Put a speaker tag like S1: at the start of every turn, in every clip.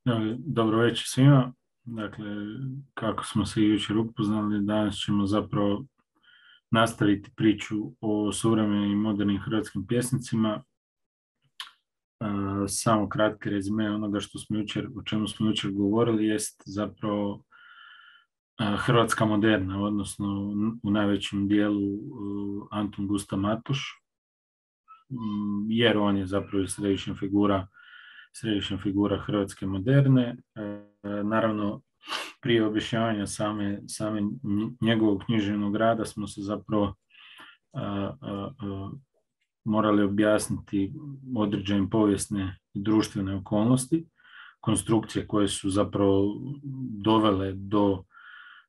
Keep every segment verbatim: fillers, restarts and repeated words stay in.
S1: E, Dobro večer svima. Dakle, kako smo se jučer upoznali, danas ćemo zapravo nastaviti priču o suvremenim i modernim hrvatskim pjesnicima. E, Samo kratki rezime onoga što smo jučer, o čemu smo jučer govorili jest zapravo e, hrvatska moderna, odnosno u najvećem dijelu e, Antun Gustav Matoš, m, jer on je zapravo središnja figura središnja figura hrvatske moderne. E, naravno, prije objašnjavanja same, same njegovog književnog rada smo se zapravo a, a, a, morali objasniti određene povijesne i društvene okolnosti, konstrukcije koje su zapravo dovele do,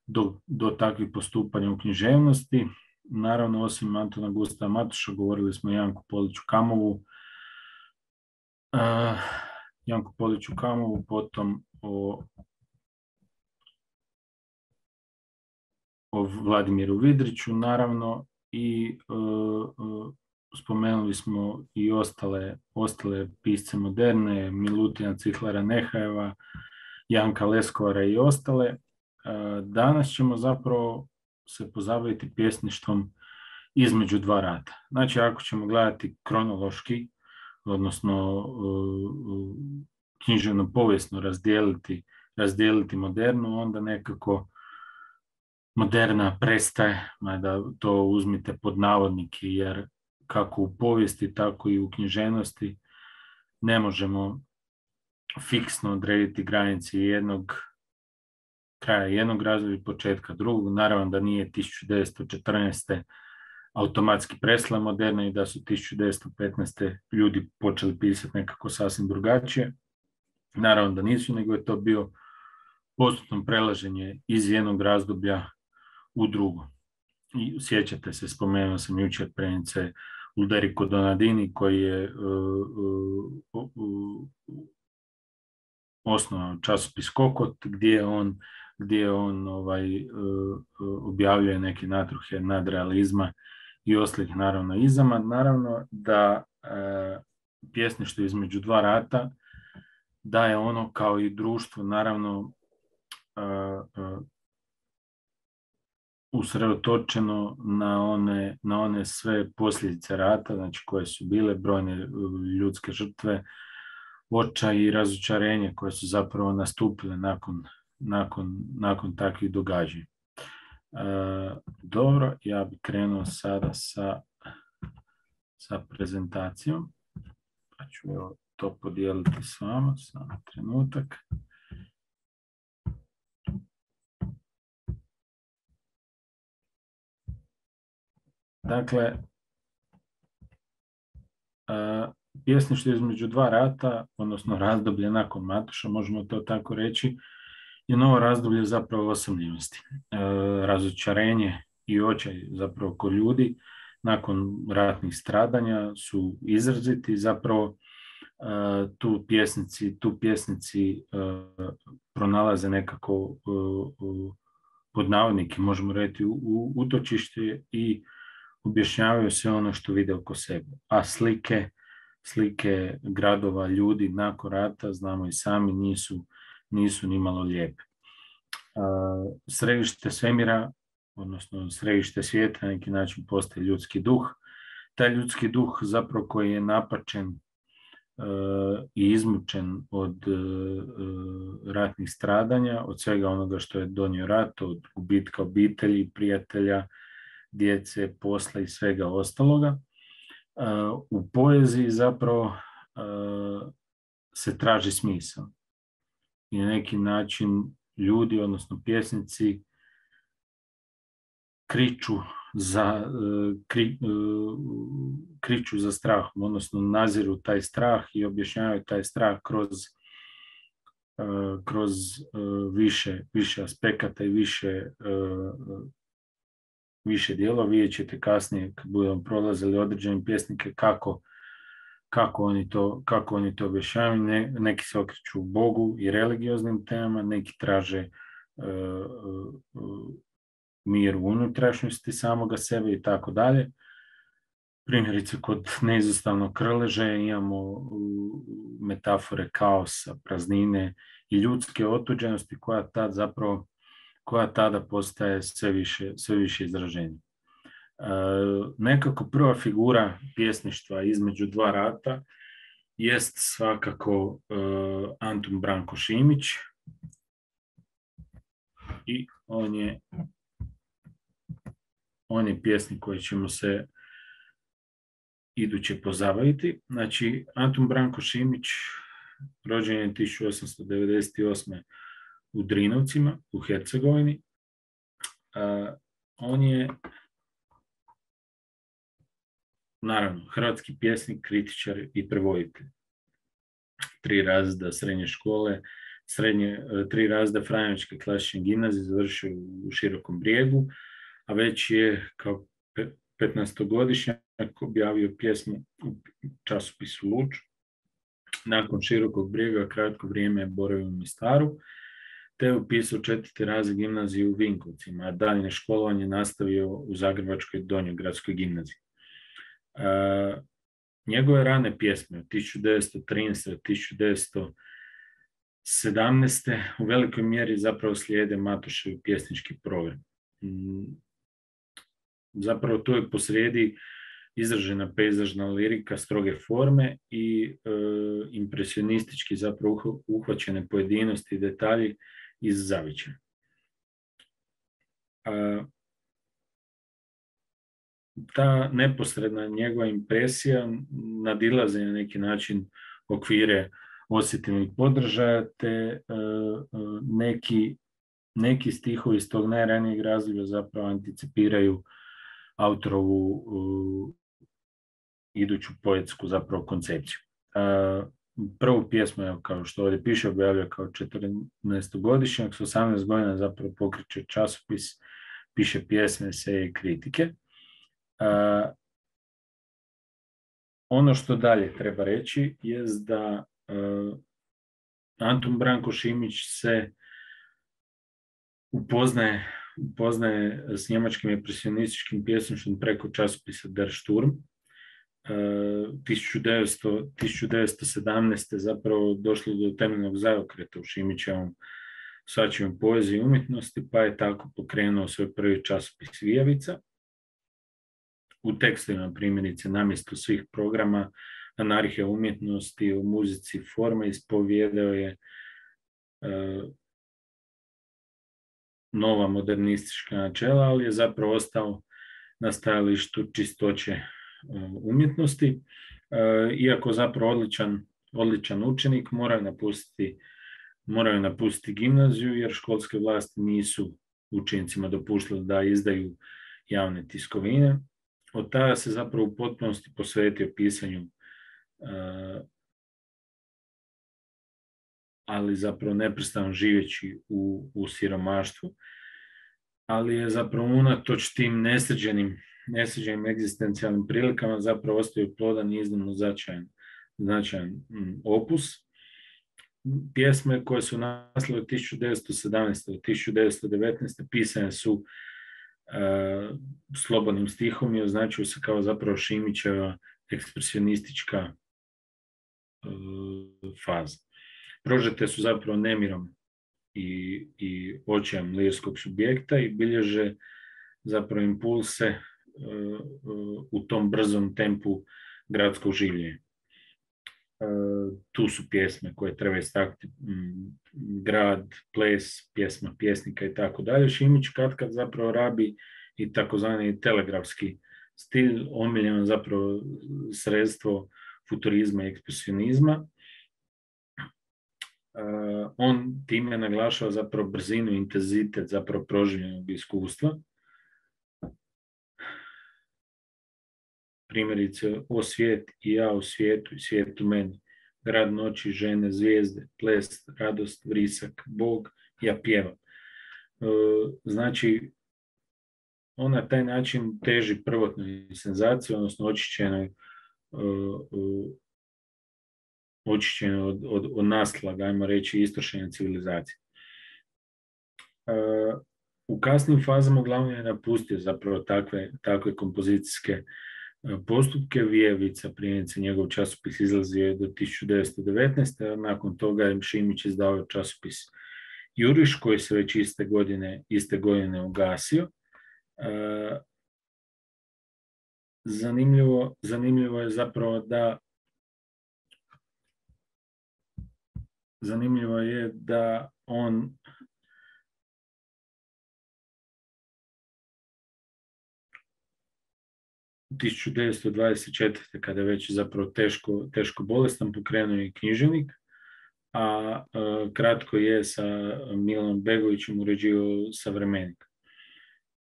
S1: do, do takvih postupanja u književnosti. Naravno, osim Antuna Gustava Matoša, govorili smo o Janku Poliću Kamovu, uh, Janku Poliću Kamovu, potom o o Vladimiru Vidriću, naravno, i uh, uh, spomenuli smo i ostale, ostale pisce moderne, Milutina Cihlara Nehajeva, Janka Leskovara i ostale. Uh, danas ćemo zapravo se pozabaviti pjesništvom između dva rata. Znači, ako ćemo gledati kronološki, odnosno uh, književno povijesno razdijeliti, razdijeliti modernu, onda nekako moderna prestaje, mada to uzmite pod navodnike, jer kako u povijesti, tako i u književnosti ne možemo fiksno odrediti granice jednog kraja jednog razdoblja i početka drugog. Naravno da nije tisuću devetsto četrnaeste. automatski presla moderna i da su tisuću devetsto petnaeste. ljudi počeli pisati nekako sasvim drugačije. Naravno da nisu, nego je to bio postupno prelaženje iz jednog razdoblja u drugo. I sjećate se, spomenuo sam jučer prenice Ulderico Donadini, koji je uh, uh, uh, osnovao časopis Kokot, gdje on, gdje on ovaj, uh, objavljuje neke natruhe nadrealizma i ostalih naravno izama. Naravno da uh, pjesništvo između dva rata da je ono kao i društvo naravno uh, uh, usredotočeno na one, na one sve posljedice rata, znači koje su bile brojne ljudske žrtve, očaj i razočarenje koje su zapravo nastupile nakon, nakon, nakon takvih događanja. E, dobro, ja bih krenuo sada sa, sa prezentacijom, pa ću evo to podijeliti s vama, samo trenutak. Dakle, pjesništvo između dva rata, odnosno razdoblje nakon Matoša, možemo to tako reći, je novo razdoblje zapravo osamljenosti. Razočarenje i očaj zapravo kod ljudi nakon ratnih stradanja su izraziti, zapravo tu pjesnici, tu pjesnici pronalaze nekako pod navodnike, možemo reći, u utočište i objašnjavaju sve ono što vide oko sebe. A slike, slike gradova, ljudi nakon rata, znamo i sami, nisu, nisu ni malo lijepe. Središte svemira, odnosno središte svijeta, na neki način postaje ljudski duh. Taj ljudski duh zapravo koji je napačen uh, i izmučen od uh, ratnih stradanja, od svega onoga što je donio rat, od gubitka obitelji, prijatelja, djece, posla i svega ostaloga. U poeziji zapravo se traži smisao. I na neki način ljudi, odnosno pjesnici, kriču za, kri, kriču za strahom, odnosno naziru taj strah i objašnjavaju taj strah kroz, kroz više, više aspekata i više više dijela. Vidjet ćete kasnije kad budemo prolazili određene pjesnike kako, kako, oni to, kako oni to objašnjavaju. Ne, neki se okreću Bogu i religioznim temama, neki traže uh, uh, mir u unutrašnjosti samoga sebe i tako dalje. Primjerice, kod neizostavnog krleža imamo uh, metafore kaosa, praznine i ljudske otuđenosti koja tad zapravo koja tada postaje sve više, sve više izraženja. E, nekako prva figura pjesništva između dva rata jest svakako e, Antun Branko Šimić i on je on je pjesnik koji ćemo se iduće pozabaviti. Znači, Antun Branko Šimić rođen je tisuću osamsto devedeset osme u Drinovcima, u Hercegovini. Uh, on je naravno hrvatski pjesnik, kritičar i prevoditelj. Tri razreda srednje škole, srednje, tri razreda Franjevačke klasične gimnazije završio u Širokom Brijegu, a već je kao petnaestogodišnjak objavio pjesmu u časopisu Luč. Nakon Širokog Brijega kratko vrijeme je boravio u Mostaru, te je upisao četvrti razred gimnazije u Vinkovcima, a daljnje školovanje nastavio u Zagrebačkoj Donjogradskoj gimnaziji. E, njegove rane pjesme od tisuću devetsto trinaeste do tisuću devetsto sedamnaeste u velikoj mjeri zapravo slijede Matošev pjesnički program. Zapravo tu je posrijedi izražena pejzažna lirika stroge forme i e, impresionistički zapravo uhvaćene pojedinosti i detalji iz zavičaja. Ta neposredna njegova impresija nadilazi na neki način okvire osjetilnih podržaja, te e, neki, neki stihovi iz tog najranijeg razdoblja zapravo anticipiraju autorovu uh, iduću poetsku zapravo koncepciju. Uh, prvu pjesmu, evo, kao što ovdje piše, objavljuje kao četrnaestogodišnjak, s osamnaest godina zapravo pokreće časopis, piše pjesme, eseje i kritike. Uh, ono što dalje treba reći je da uh, Antun Branko Šimić se upoznaje upoznaje s njemačkim impresionističkim pjesništvom preko časopisa Der Sturm. tisuću devetsto sedamnaeste zapravo došlo do temeljnog zaokreta u Šimićevom shvaćanju poezije i umjetnosti, pa je tako pokrenuo svoj prvi časopis Vijavica. U tekstovima primjerice namjesto svih programa anarhija umjetnosti u muzici forme ispovijedao je uh, nova modernistička načela, ali je zapravo ostao na stajalištu čistoće umjetnosti. Iako zapravo odličan, odličan učenik, morao je napustiti, morao je napustiti gimnaziju, jer školske vlasti nisu učenicima dopuštali da izdaju javne tiskovine. Od tada se zapravo u potpunosti posvetio pisanju, ali zapravo neprestano živeći u, u siromaštvu, ali je zapravo unatoč tim nesređenim, nesređenim egzistencijalnim prilikama zapravo ostaju plodan i iznimno značajan, značajan mm, opus. Pjesme koje su nastale od tisuću devetsto sedamnaeste do tisuću devetsto devetnaeste pisane su uh, slobodnim stihom i označuju se kao zapravo Šimićeva ekspresionistička uh, faza. Prožete su zapravo nemirom i, i očajem lirskog subjekta i bilježe zapravo impulse uh, uh, u tom brzom tempu gradskog življenja. Uh, tu su pjesme koje treba istaknuti, um, grad, ples, pjesma pjesnika i tako dalje. Šimić katkad zapravo rabi i takozvani telegrafski stil, omiljeno zapravo sredstvo futurizma i ekspresionizma. Uh, on time naglašava zapravo brzinu i intenzitet zapravo proživljenog iskustva. Primjerice, o svijet i ja u svijetu i svijet u meni, grad noći, žene, zvijezde, ples, radost, vrisak, Bog, ja pjevam. Uh, znači, on na taj način teži prvotnoj senzaciji, odnosno očišćenoj uh, uh, očišćeno od, od, od naslaga, ajmo reći, istrošenja civilizacije. Uh, u kasnim fazama uglavnom je napustio zapravo takve, takve kompozicijske postupke. Vijevica, primjerice, njegov časopis izlazio je do tisuću devetsto devetnaeste. A nakon toga je Šimić izdao časopis Juriš, koji se već iste godine, iste godine ugasio. Zanimljivo, zanimljivo je zapravo da zanimljivo je da on tisuću devetsto dvadeset četvrte. kada je već zapravo teško, teško bolestan, pokrenuo je književnik, a, a kratko je sa Milanom Begovićem uređivao Savremenik.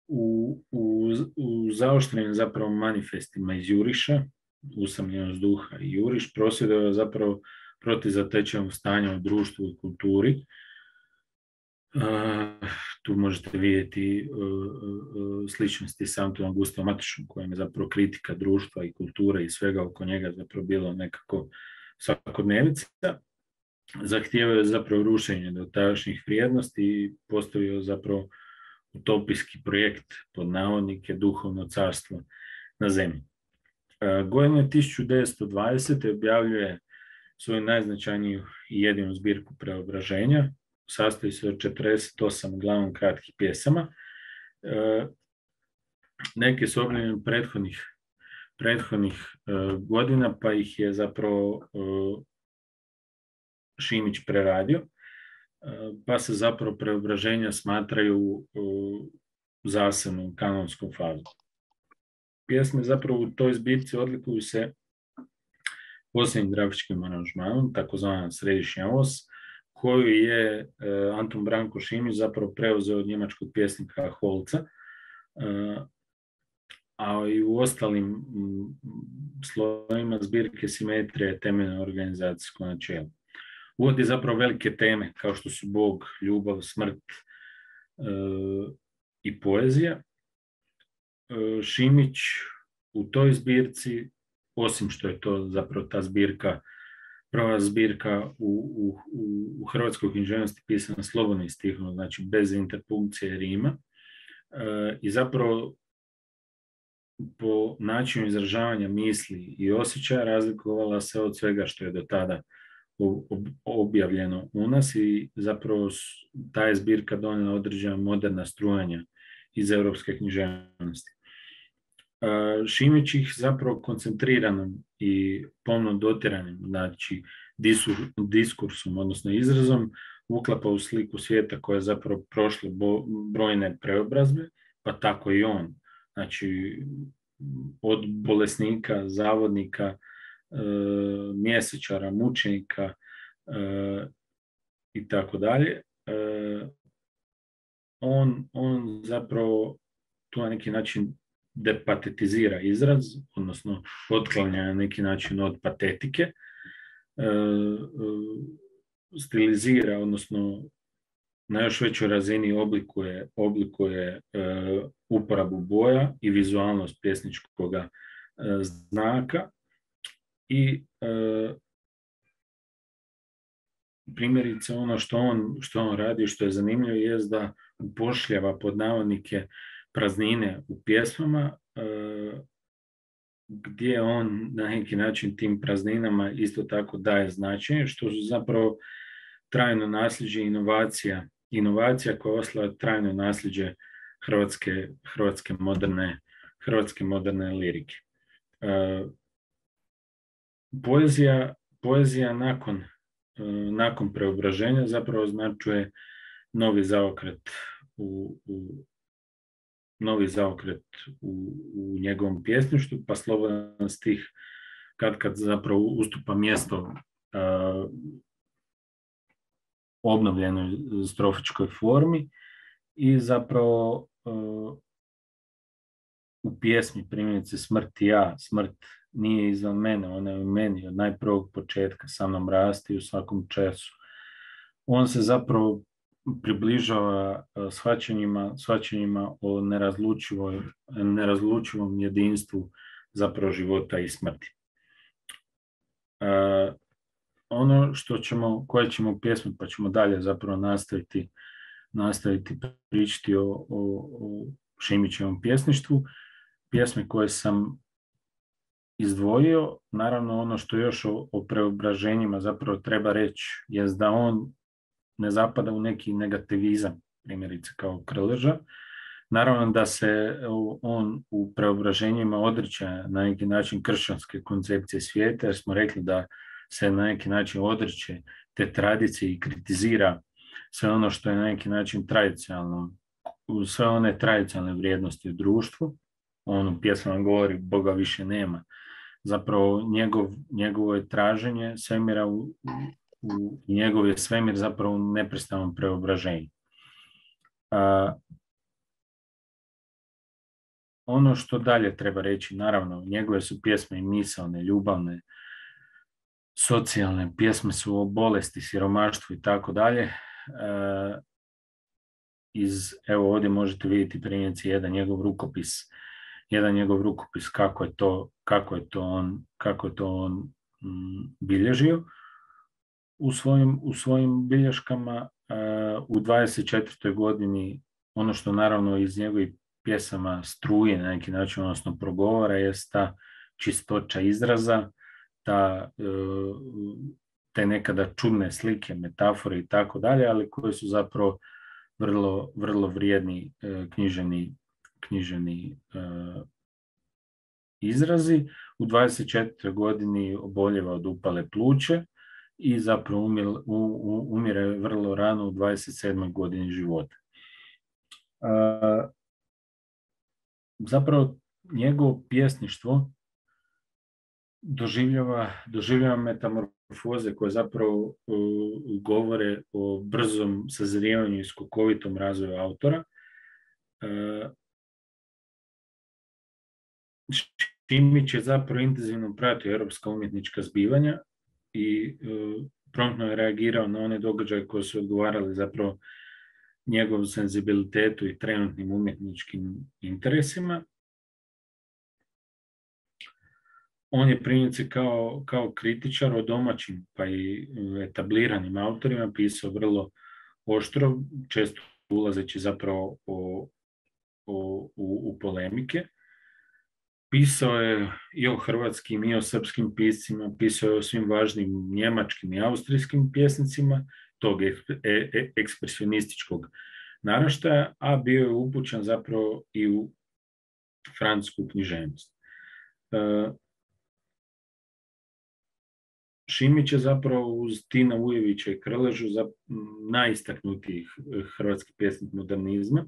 S1: U, u, u zaoštrenim zapravo manifestima iz Juriša, Usamljenost duha i Juriš, prosvjedovao zapravo protiv zatečenog stanja u društvu i kulturi. Uh, tu možete vidjeti uh, uh, sličnosti s Antonom Gustavom Matošom, kojem je zapravo kritika društva i kulture i svega oko njega zapravo bilo nekako svakodnevica. Zahtijevao je zapravo rušenje dotadašnjih vrijednosti i postavio zapravo utopijski projekt pod navodnike duhovno carstvo na zemlji. Uh, godine tisuću devetsto dvadesete. objavljuje svoju najznačajniju i jedinu zbirku Preobraženja. Sastoji se od četrdeset osam uglavnom kratkih pjesama. E, neke su objavljene prethodnih, prethodnih e, godina, pa ih je zapravo e, Šimić preradio, e, pa se zapravo Preobraženja smatraju e, zasebnom kanonskom fazom. Pjesme zapravo u toj zbirci odlikuju se posljednjim grafičkim aranžmanom, takozvana središnja os, koju je e, Anton Branko Šimić zapravo preuzeo od njemačkog pjesnika Holca, e, a i u ostalim m, slovima zbirke simetrija je temeljno organizacijsko načelo. Uvodi zapravo velike teme kao što su Bog, ljubav, smrt e, i poezija. E, Šimić u toj zbirci, osim što je to zapravo ta zbirka, prva zbirka u, u, u hrvatskoj književnosti pisana slobodnim stihom, znači bez interpunkcije rima, e, i zapravo po načinu izražavanja misli i osjećaja razlikovala se od svega što je do tada objavljeno u nas i zapravo ta je zbirka donijela određena moderna strujanja iz europske književnosti. Šimić ih zapravo koncentriranom i pomno dotiranim, znači disur, diskursom, odnosno izrazom, uklapa u sliku svijeta koja je zapravo prošla bo, brojne preobrazbe, pa tako i on. Znači, od bolesnika, zavodnika, e, mjesečara, mučenika e, i tako dalje. On, on zapravo tu na neki način depatetizira izraz, odnosno otklanja na neki način od patetike, e, e, stilizira, odnosno na još većoj razini oblikuje, oblikuje e, uporabu boja i vizualnost pjesničkog e, znaka i e, primjerice ono što on, što on radi, što je zanimljivo, je da upošljava pod navodnike praznine u pjesmama, e, gdje on na neki način tim prazninama isto tako daje značenje, što su zapravo trajno nasljeđe inovacija, inovacija koja je ostala trajno nasljeđe hrvatske, hrvatske, moderne, hrvatske moderne lirike. E, poezija, poezija nakon, e, nakon preobraženja zapravo označuje novi zaokret u, u novi zaokret u, u njegovom pjesništvu, pa slobodan stih kad kad zapravo ustupa mjesto uh, obnovljenoj strofičkoj formi i zapravo uh, u pjesmi primjerice Smrt i ja, smrt nije izvan mene, ona je u meni od najprvog početka, sa mnom rasti u svakom času. On se zapravo približava shvaćanjima, shvaćanjima o nerazlučivom jedinstvu zapravo života i smrti. Uh, ono što ćemo, koje ćemo pjesme, pa ćemo dalje zapravo nastaviti, nastaviti pričati o, o, o Šimićevom pjesništvu, pjesme koje sam izdvojio. Naravno, ono što još o, o preobraženjima zapravo treba reći je da on ne zapada u neki negativizam, primjerice kao Krleža. Naravno da se on u preobraženjima odriče na neki način kršćanske koncepcije svijeta, jer smo rekli da se na neki način odriče te tradicije i kritizira sve ono što je na neki način tradicionalno, sve one tradicionalne vrijednosti u društvu. On u pjesmama govori Boga više nema. Zapravo njegov, njegovo je traženje svemira u, u, njegov je svemir zapravo u neprestanom preobraženju. A, ono što dalje treba reći, naravno, njegove su pjesme i misaone, ljubavne, socijalne, pjesme su o bolesti, siromaštvu i tako dalje. Iz, evo ovdje možete vidjeti primjerice jedan njegov rukopis, jedan njegov rukopis kako je to, kako je to on, kako je to on m, bilježio u svojim, u svojim bilješkama. U dvadeset četvrtoj godini ono što naravno iz njegovih pjesama struje na neki način, odnosno progovara, je ta čistoća izraza, ta, te nekada čudne slike, metafore i tako dalje, ali koje su zapravo vrlo, vrlo vrijedni književni, književni izrazi. U dvadeset četvrtoj godini oboljeva od upale pluće i zapravo umire, umire vrlo rano u dvadeset sedmoj godini života. Zapravo njegovo pjesništvo doživljava, doživljava metamorfoze koje zapravo uh, govore o brzom sazrijevanju i skokovitom razvoju autora. Uh, Šimić je zapravo intenzivno pratio europska umjetnička zbivanja i uh, promptno je reagirao na one događaje koje su odgovarali zapravo njegovom senzibilitetu i trenutnim umjetničkim interesima. On je primjerice kao, kao kritičar o domaćim pa i etabliranim autorima pisao vrlo oštro, često ulazeći zapravo o, o, u, u polemike. Pisao je i o hrvatskim i o srpskim piscima, pisao je o svim važnim njemačkim i austrijskim pjesnicima tog ekspresionističkog naraštaja, a bio je upućen zapravo i u francusku književnost. Šimić je zapravo uz Tina Ujevića i Krležu najistaknutijih hrvatskih pjesnik modernizma,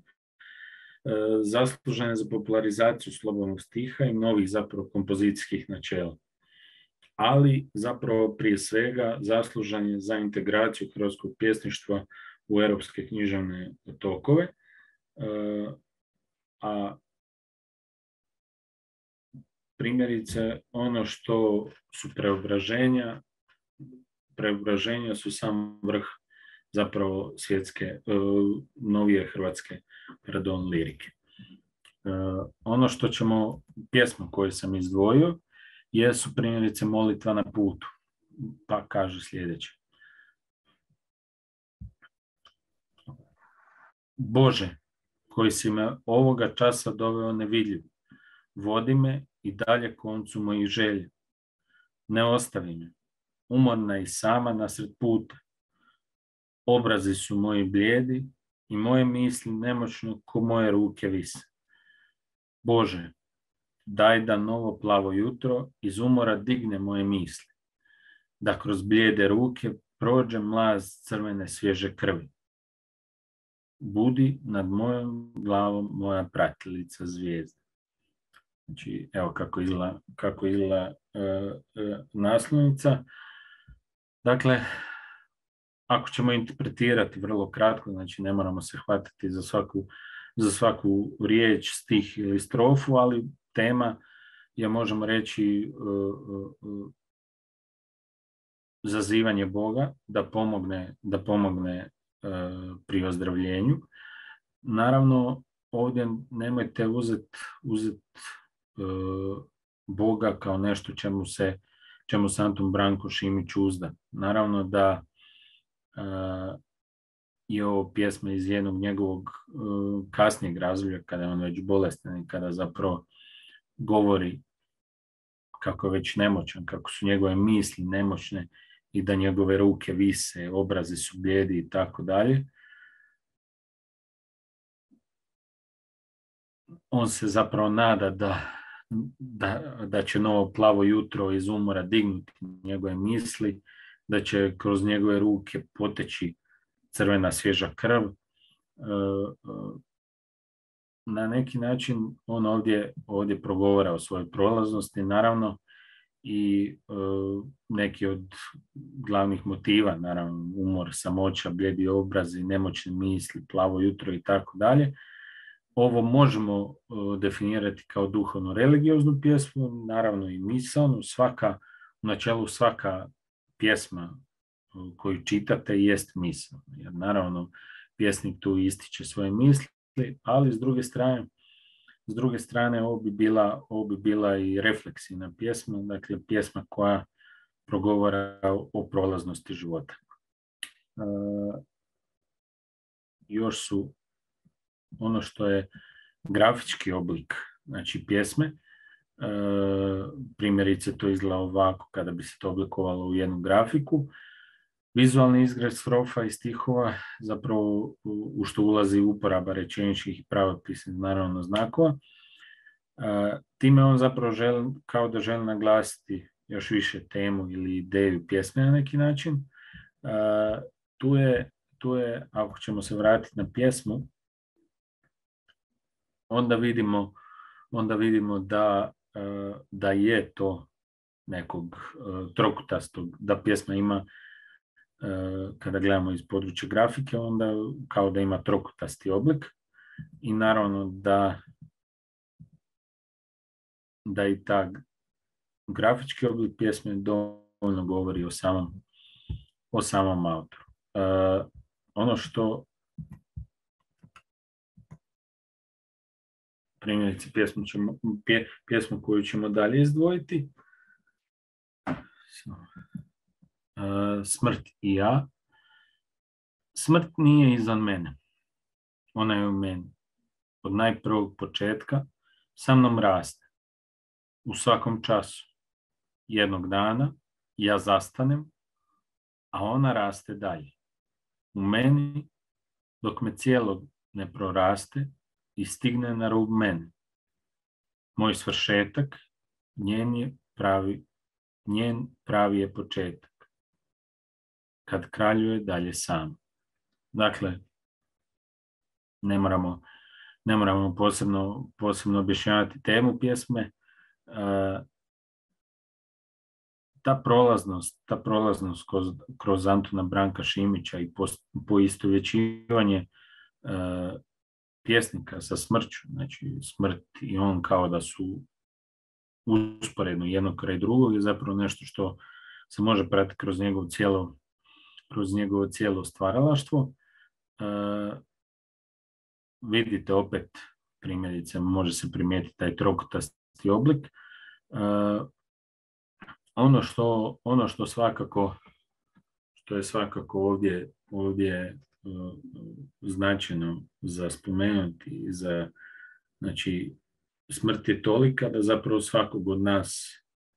S1: zaslužen je za popularizaciju slobodnog stiha i novih zapravo kompozicijskih načela. Ali zapravo prije svega zaslužen je za integraciju hrvatskog pjesništva u europske književne tokove, a primjerice ono što su preobraženja, preobraženja su sam vrh zapravo svjetske, novije hrvatske, pardon, lirike. Ono što ćemo, pjesmu koju sam izdvojio, jesu primjerice Molitva na putu, pa kaže sljedeće. Bože, koji si me ovoga časa doveo nevidljiv, vodi me i dalje koncu mojih želja. Ne ostavi me, umorna i sama nasred puta. Obrazi su moji blijedi i moje misli nemoćno ko moje ruke vise. Bože, daj da novo plavo jutro iz umora digne moje misli, da kroz blijede ruke prođe mlaz crvene svježe krvi. Budi nad mojom glavom moja pratilica zvijezda. Znači, evo kako izgleda, kako izgleda e, e, naslovnica. Dakle, ako ćemo interpretirati vrlo kratko, znači ne moramo se hvatati za svaku, za svaku riječ, stih ili strofu, ali tema je, možemo reći, uh, uh, zazivanje Boga da pomogne, da pomogne uh, pri ozdravljenju. Naravno, ovdje nemojte uzeti uzet, uh, Boga kao nešto čemu se, čemu se Antun Branko Šimić uzda. Naravno da uh, je ovo pjesma iz jednog njegovog uh, kasnijeg razdoblja, kada je on već bolestan i kada zapravo govori kako je već nemoćan, kako su njegove misli nemoćne i da njegove ruke vise, obrazi su blijedi i tako dalje. On se zapravo nada da, da, da će novo plavo jutro iz umora dignuti njegove misli, da će kroz njegove ruke poteći crvena svježa krv. Na neki način on ovdje, ovdje progovara o svojoj prolaznosti, naravno, i neki od glavnih motiva, naravno, umor, samoća, blijedi obrazi, nemoćne misli, plavo jutro i tako dalje. Ovo možemo definirati kao duhovno-religioznu pjesmu, naravno i misaonu. Svaka, u načelu svaka pjesma koju čitate jest misao, jer naravno pjesnik tu ističe svoje misli, ali s druge strane, s druge strane ovo bi bila, ovo bi bila i refleksivna pjesma, dakle pjesma koja progovara o prolaznosti života. E, još su ono što je grafički oblik, znači pjesme, e, primjerice to izgleda ovako kada bi se to oblikovalo u jednu grafiku. Vizualni izgled strofa i stihova, zapravo u što ulazi uporaba rečeničkih i pravopisnih naravno znakova. E, time on zapravo želi, kao da želi naglasiti još više temu ili ideju pjesme na neki način. E, tu je, tu je, ako ćemo se vratiti na pjesmu, onda vidimo, onda vidimo da, da je to nekog trokutastog, da pjesma ima, kada gledamo iz područja grafike, onda kao da ima trokutasti oblik i naravno da, da i ta grafički oblik pjesme dovoljno govori o samom, o samom autoru. Ono što primjerice pjesmu, ćemo, pje, pjesmu koju ćemo dalje izdvojiti. Uh, smrt i ja. Smrt nije izvan mene. Ona je u meni. Od najprvog početka sa mnom raste. U svakom času. Jednog dana ja zastanem, a ona raste dalje. U meni, dok me cijelog ne proraste i stigne na rub mene. Moj svršetak, njen je pravi, njen pravi je početak. Kad kraljuje dalje sam. Dakle, ne moramo, ne moramo posebno, posebno objašnjavati temu pjesme. Ta prolaznost, ta prolaznost kroz, kroz Antuna Branka Šimića i poistovjećivanje pjesnika sa smrću, znači smrt i on kao da su usporedno jedno kraj drugog, je zapravo nešto što se može pratiti kroz njegovo cijelo, kroz njegovo cijelo stvaralaštvo. E, vidite opet, primjerice, može se primijetiti taj trokutasti oblik. E, ono što, ono što svakako, što je svakako ovdje, ovdje uh, značajno za spomenuti, za, znači, smrt je tolika da zapravo svakog od nas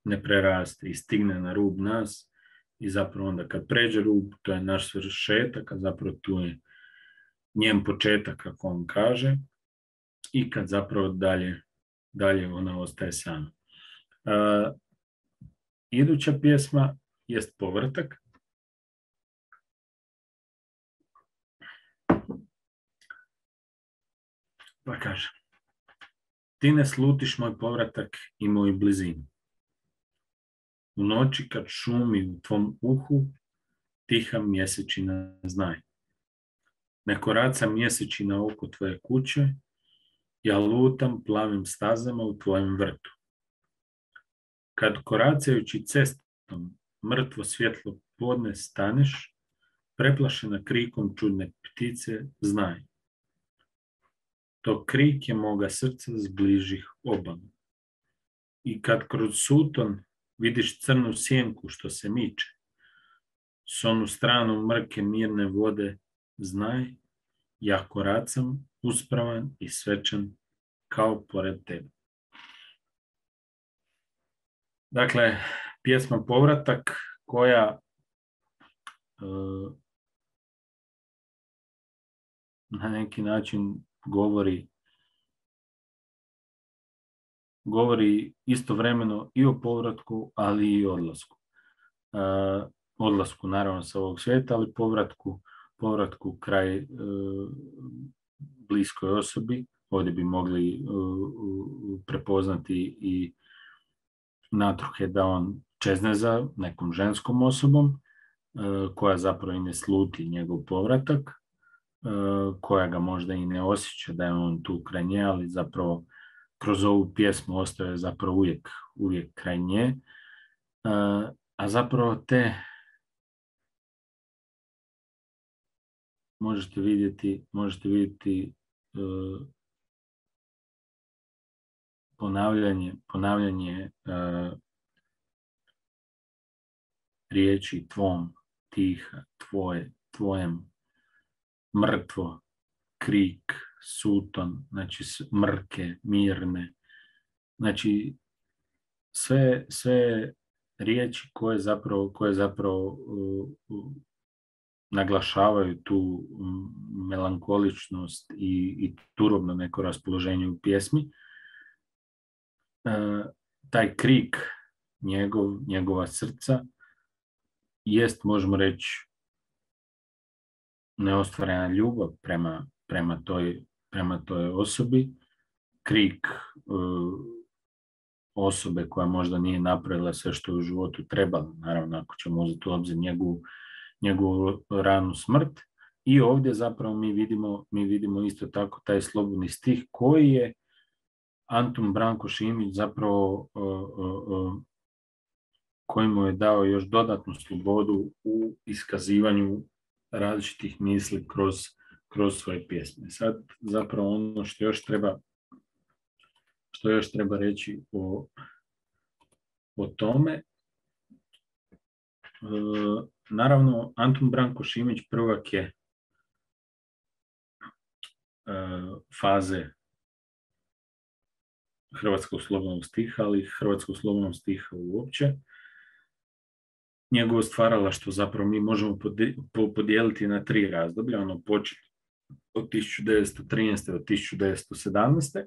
S1: ne preraste i stigne na rub nas i zapravo onda kad pređe rub, to je naš svršetak, a zapravo tu je njen početak, kako on kaže, i kad zapravo dalje, dalje ona ostaje sama. Uh, iduća pjesma jest Povrtak. Pa kaže: ti ne slutiš moj povratak i moju blizinu. U noći kad šumi u tvom uhu, tiha mjesečina znaj. Ne koraca mjesečina oko tvoje kuće, ja lutam plavim stazama u tvojem vrtu. Kad koracajući cestom mrtvo svjetlo podne staneš, preplašena krikom čudne ptice, znaj. To krik je moga srca s bližih obala. I kad kroz suton vidiš crnu sjenku što se miče, s onu stranu mrke mirne vode, znaj, ja koracam uspravan i svečan kao pored tebe. Dakle, pjesma Povratak koja e, na neki način govori govori istovremeno i o povratku, ali i odlasku. E, odlasku naravno sa ovog svijeta, ali povratku, povratku kraj e, bliskoj osobi. Ovdje bi mogli e, prepoznati i natruhe da on čezne za nekom ženskom osobom, e, koja zapravo i ne sluti njegov povratak, e, koja ga možda i ne osjeća da je on tu kraj nje, ali zapravo kroz ovu pjesmu ostaje zapravo uvijek, uvijek kraj nje. A zapravo te možete vidjeti, možete vidjeti uh, ponavljanje, ponavljanje uh, riječi tvom, tiha, tvoje, tvojem, mrtvo, krik, suton, znači mrke, mirne, znači sve, sve riječi koje zapravo, koje zapravo uh, uh, naglašavaju tu melankoličnost i, i turobno neko raspoloženje u pjesmi. E, taj krik njegov, njegova srca jest, možemo reći, neostvarena ljubav prema, prema, toj, prema toj osobi. Krik e, osobe koja možda nije napravila sve što je u životu trebala, naravno ako ćemo uzeti u obzir njegovu njegovu ranu smrt. I ovdje zapravo mi vidimo, mi vidimo isto tako taj slobodni stih koji je Antun Branko Šimić zapravo uh, uh, uh, koji mu je dao još dodatnu slobodu u iskazivanju različitih misli kroz, kroz svoje pjesme. Sad zapravo ono što još treba što još treba reći o, o tome. Uh, naravno, Antun Branko Šimić prvak je uh, faze hrvatskog slobodnog stiha, ali hrvatskog slobodnog stiha uopće. Njegovo stvaralaštvo zapravo mi možemo podijeliti na tri razdoblja, ono početi od tisuću devetsto trinaeste do tisuću devetsto sedamnaeste.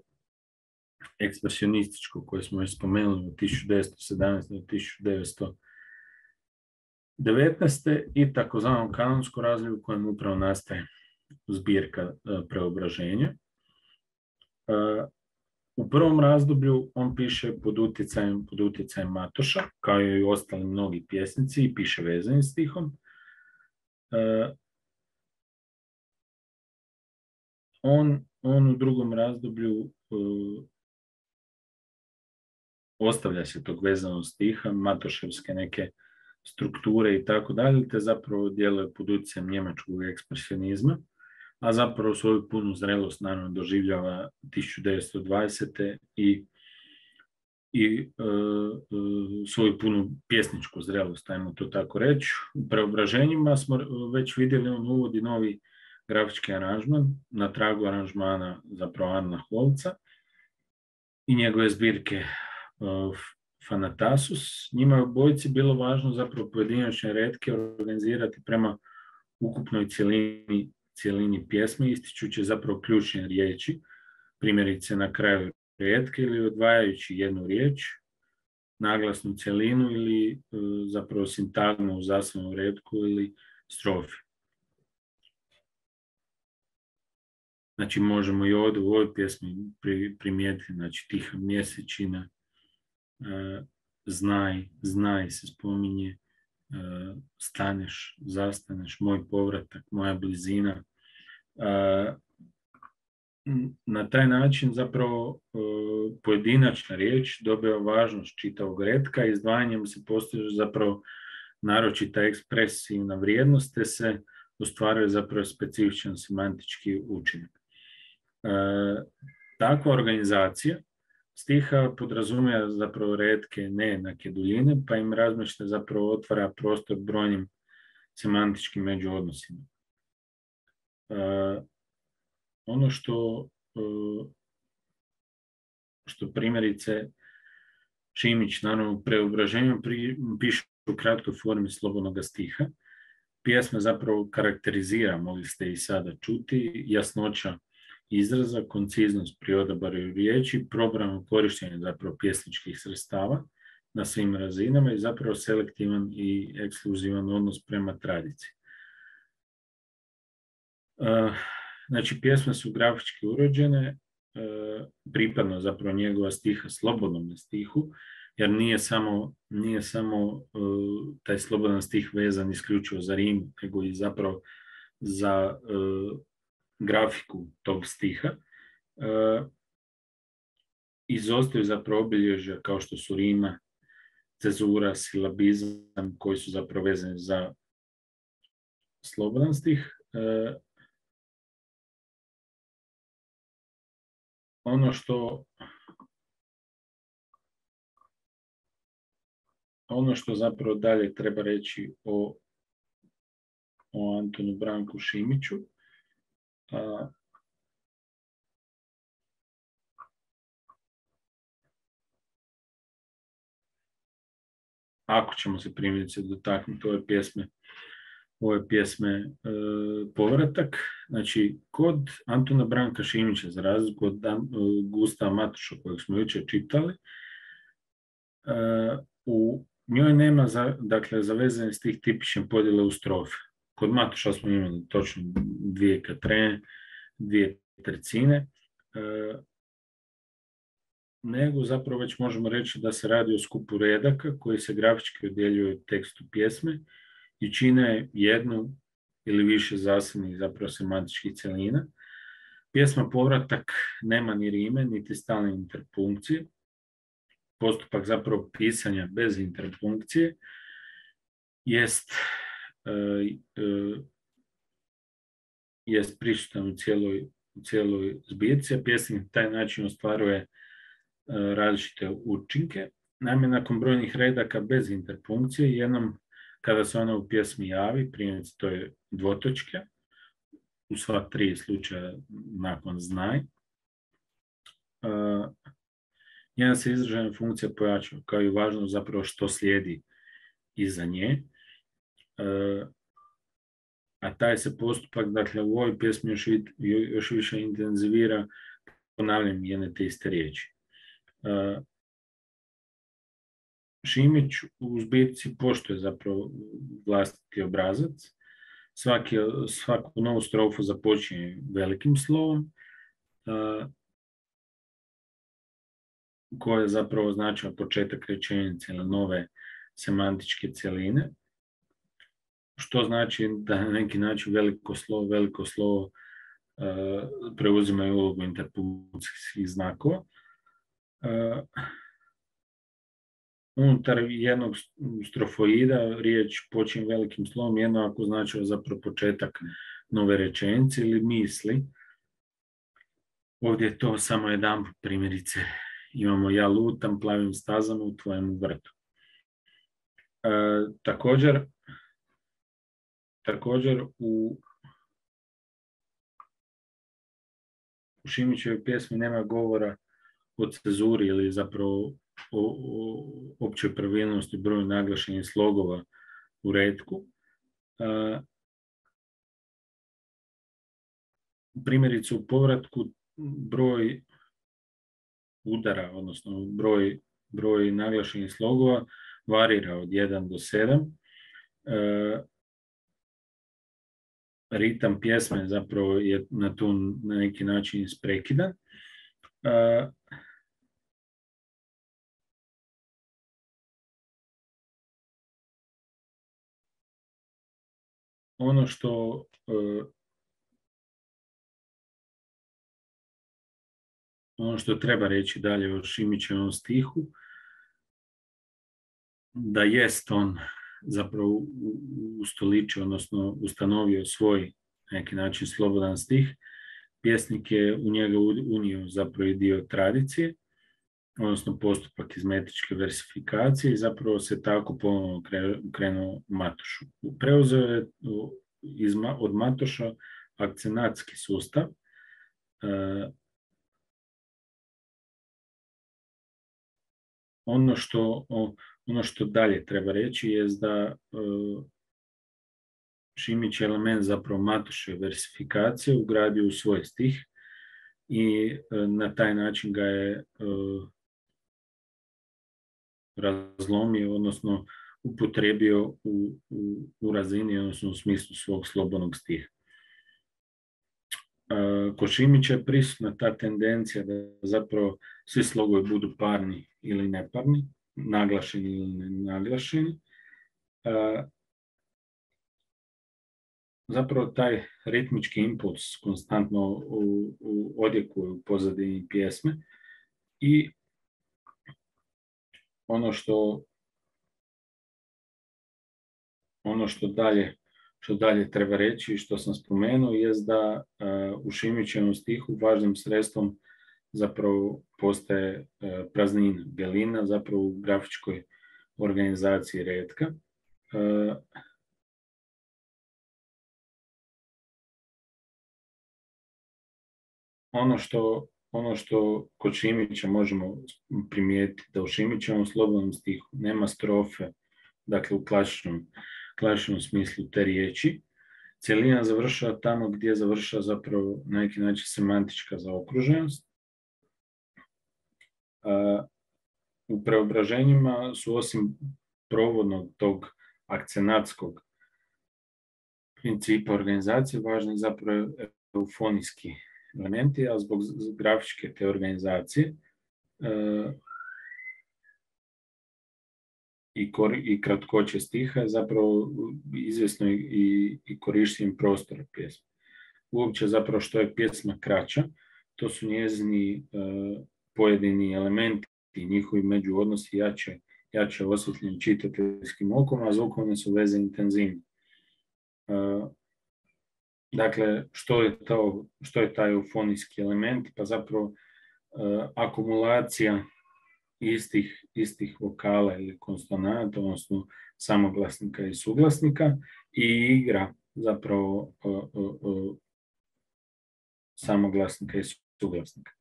S1: Ekspresionističko koje smo već spomenuli od tisuću devetsto sedamnaeste do tisuću devetsto devetnaeste i takozvano kanonsko razdoblje u kojem upravo nastaje zbirka Preobraženja. U prvom razdoblju on piše pod utjecajem, pod utjecajem Matoša, kao i ostali mnogi pjesnici, i piše vezanim stihom. On, on u drugom razdoblju ostavlja se tog vezanog stiha, matoševske neke strukture i tako dalje, te zapravo djeluje pod utjecajem njemačkog ekspresionizma, a zapravo svoju punu zrelost naravno doživljava tisuću devetsto dvadesete i, i e, e, svoju punu pjesničku zrelost, ajmo to tako reći. U Preobraženjima smo već vidjeli, on uvodi novi grafički aranžman na tragu aranžmana zapravo Arna Holca i njegove zbirke e, Fanatasus. Njima je obojici bilo važno zapravo pojedinačne retke organizirati prema ukupnoj cjelini, cjelini pjesme, ističući zapravo ključne riječi, primjerice na kraju retke ili odvajajući jednu riječ, naglasnu cjelinu ili e, zapravo sintagmu u zasebnom retku ili strofi. Znači možemo i ovdje u ovoj pjesmi primijetiti, znači tiha mjesečina, Uh, znaj, znaj se spominje, uh, staneš, zastaneš, moj povratak, moja blizina. Uh, na taj način zapravo uh, pojedinačna riječ dobiva važnost čitavog retka, izdvajanjem se postiže zapravo naročita ekspresivna vrijednost, te se ostvaruje zapravo specifičan semantički učinak. Uh, takva organizacija stiha podrazumijeva zapravo retke nejednake duljine, pa im razmještaj zapravo otvara prostor brojnim semantičkim međuodnosima. Uh, ono što, uh, što primjerice Šimić, naravno, u preobraženju piše u kratkoj formi slobodnog stiha. Pjesma zapravo karakterizira, mogli ste i sada čuti, jasnoća izraza, konciznost pri odabaru riječi, probrano korištenje zapravo pjesničkih sredstava na svim razinama i zapravo selektivan i ekskluzivan odnos prema tradiciji. Znači, pjesme su grafički uređene, pripadno zapravo njegova stiha slobodnom stihu, jer nije samo, nije samo uh, taj slobodan stih vezan isključivo za rim, nego i zapravo za uh, grafiku tog stiha. Uh, izostaju zapravo obilježja kao što su rima, cezura, silabizam, koji su zapravo vezani za slobodan stih. Uh, ono što Ono što zapravo dalje treba reći o, o Antonu Branku Šimiću, a, ako ćemo se primjerice dotaknuti ove pjesme, ove pjesme e, Povratak, znači kod Antona Branka Šimića, za razliku od Dan, Gustava Matoša kojeg smo jučer čitali, e, u njoj nema za, dakle, zavezane s tih tipične podjele u strofe. Kod Matoša smo imali točno dvije katrene, dvije tercine, e, nego zapravo već možemo reći da se radi o skupu redaka koji se grafički odjeljuju tekstu pjesme i čine jednu ili više zasebnih zapravo semantičkih cjelina. Pjesma Povratak nema ni rime, niti stalne interpunkcije. Postupak zapravo pisanja bez interpunkcije jest, uh, uh, jest prisutan u cijeloj, u cijeloj zbirci, a pjesnik na taj način ostvaruje uh, različite učinke. Naime, nakon brojnih redaka bez interpunkcije, jednom kada se ona u pjesmi javi, primjerice to je dvotočke, u sva tri slučaja nakon znaj, uh, njena se izražena funkcija pojačava, kao i važno zapravo što slijedi iza nje. E, a taj se postupak, dakle, u ovoj pjesmi još, još više intenzivira ponavljanjem jedne te iste riječi. E, Šimić u zbirci poštuje zapravo vlastiti obrazac. Svaki, svaku novu strofu započinje velikim slovom, e, koje zapravo označava početak rečenice ili nove semantičke cjeline, što znači da na neki način veliko slovo, veliko slovo uh, preuzimaju ulogu interpunkcijskih znakova. Uh, unutar jednog strofoida riječ počinje velikim slovom, jedno ako označava zapravo početak nove rečenice ili misli. Ovdje je to samo jedan primjerice. Imamo ja lutam plavim stazama u tvojem vrtu. E, također, također u, u Šimićevoj pjesmi nema govora o cezuri ili zapravo o, o općoj pravilnosti broju naglašenih slogova u retku. E, primjerice u Povratku broj udara, odnosno broj, broj naglašenih slogova varira od jedan do sedam. E, ritam pjesme zapravo je na tu na neki način isprekidan. E, ono što e, ono što treba reći dalje o Šimićevom stihu, da jest on zapravo ustoličio, odnosno ustanovio svoj neki način slobodan stih. Pjesnik je u njega unio zapravo i dio tradicije, odnosno postupak iz metričke versifikacije i zapravo se tako ponovno krenuo Matošu. Preuzeo je iz, od Matoša akcenatski sustav, ono što, ono što dalje treba reći je da Šimić je element zapravo Matoševe versifikacije ugradio u svoj stih i na taj način ga je razlomio, odnosno upotrebio u, u, u razini, odnosno u smislu svog slobodnog stiha. Kod Šimića je prisutna ta tendencija da zapravo svi slogovi budu parni ili neparni, naglašeni ili nenaglašeni. Zapravo taj ritmički impuls konstantno u, u odjekuje u pozadini pjesme i ono što ono što dalje što dalje treba reći i što sam spomenuo je da uh, u Šimićevom stihu važnim sredstvom zapravo postaje uh, praznina, gelina, zapravo u grafičkoj organizaciji retka. Uh, ono što ono što kod Šimića možemo primijetiti da u Šimićevom slobodnom stihu nema strofe, dakle u klasičnom klasičnom smislu te riječi. Cjelina završava tamo gdje završava zapravo na neki način semantička zaokruženost. U preobraženjima su osim provodnog tog akcenatskog principa organizacije važni zapravo eufonijski elementi, a zbog grafičke te organizacije I, kor, i kratkoće stiha je zapravo izvjesno i, i korištenjem prostora pjesme. Uopće zapravo što je pjesma kraća, to su njezini uh, pojedini elementi i njihovi međuodnosi jače, jače osvjetljeni čitateljskim okom, a zvukovne su veze intenzivne. Uh, dakle, što je, to, što je taj eufonijski element? Pa zapravo uh, akumulacija istih, istih vokala ili konsonanta, odnosno samoglasnika i suglasnika i igra zapravo o, o, o, samoglasnika i suglasnika.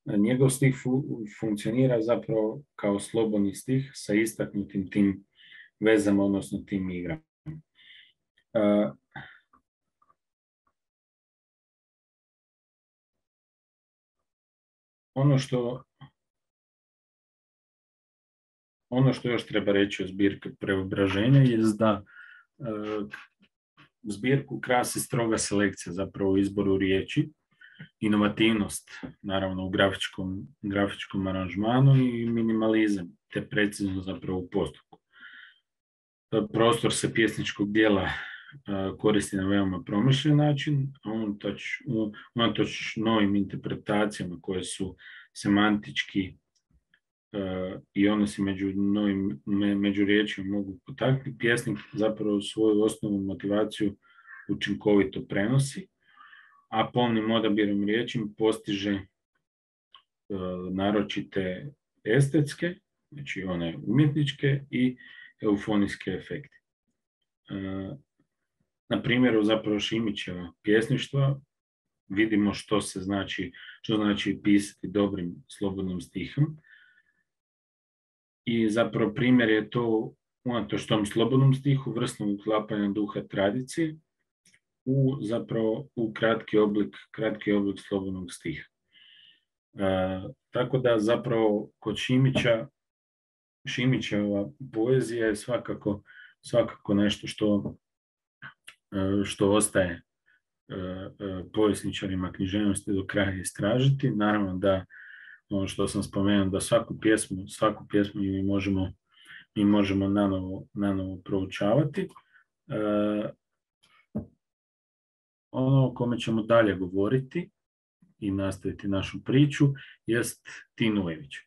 S1: Njegov stih fu, funkcionira zapravo kao slobodni stih sa istaknutim tim vezama, odnosno tim igrama. Uh, ono što Ono što još treba reći o zbirki Preobraženja je da e, zbirku krasi stroga selekcija zapravo u izboru riječi, inovativnost naravno u grafičkom, grafičkom aranžmanu i minimalizam, te precizno zapravo u postupku. Prostor se pjesničkog dijela e, koristi na veoma promišljen način, a unatoč, unatoč novim interpretacijama koje su semantički Uh, i odnosi među novim me, među riječima mogu potaknuti, pjesnik zapravo svoju osnovnu motivaciju učinkovito prenosi, a polnim odabirom riječi postiže uh, naročite estetske, znači one umjetničke i eufonijske efekte. Uh, na primjeru zapravo Šimićeva pjesništva vidimo što se znači, što znači pisati dobrim slobodnim stihom. I zapravo primjer je to unatoč tom slobodnom stihu, vrstnog uklapanja duha tradicije u zapravo u kratki oblik, kratki oblik slobodnog stiha. E, tako da zapravo kod Šimića, Šimićeva poezija je svakako, svakako nešto što, što ostaje povjesničarima književnosti do kraja istražiti. Naravno da ono što sam spomenuo, da svaku pjesmu, svaku pjesmu mi možemo, mi možemo nanovo, nanovo proučavati. E, ono o kome ćemo dalje govoriti i nastaviti našu priču jest Tin Ujević. E,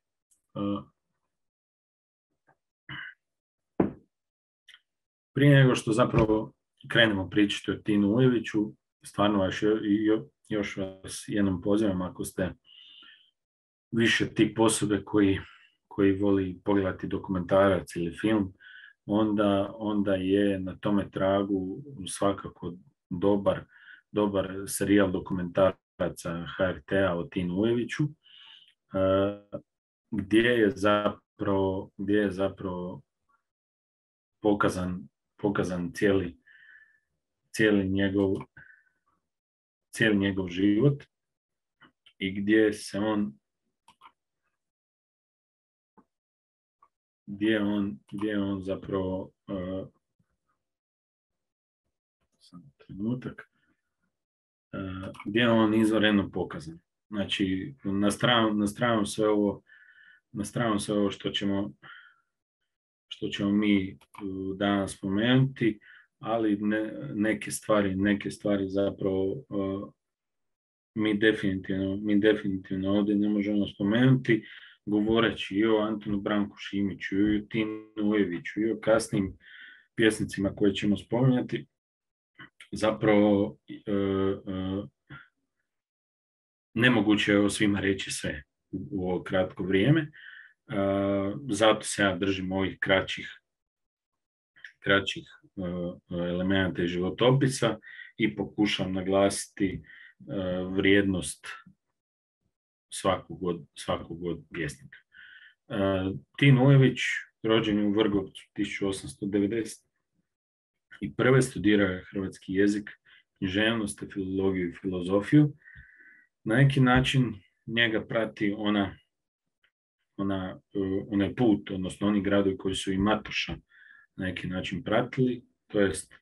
S1: prije nego što zapravo krenemo pričati o Tinu Ujeviću, stvarno vas još vas jednom pozivam, ako ste više tip osobe koji, koji voli pogledati dokumentarac ili film, onda, onda je na tome tragu svakako dobar, dobar serijal dokumentaraca H R T-a o Tinu Ujeviću, gdje je pro, gdje je zapravo pokazan, pokazan cijeli, cijeli njegov cijeli njegov život i gdje se on gdje on, gdje on zapravo uh, sam trenutak uh, gdje je on izvanredno pokazan. Znači, na stranu, na stranu sve ovo na stranu sve ovo što ćemo što ćemo mi uh, danas spomenuti, ali ne, neke stvari, neke stvari zapravo uh, mi definitivno, mi definitivno ovdje ne možemo spomenuti, govoreći i o Antunu Branku Šimiću, i o Tinu Ujeviću, i o kasnim pjesnicima koje ćemo spominjati. Zapravo uh, uh, nemoguće je o svima reći sve u, u ovo kratko vrijeme. Uh, zato se ja držim ovih kraćih kraćih uh, elemenata i životopisa i pokušam naglasiti uh, vrijednost svakog od, svakog od pjesnika. Uh, Tin Ujević, rođen je u Vrgorcu tisuću osamsto devedeset prve. Studirao je hrvatski jezik, književnost, filologiju i filozofiju. Na neki način njega prati ona, ona, uh, onaj put, odnosno oni gradovi koji su i Matoša na neki način pratili, to jest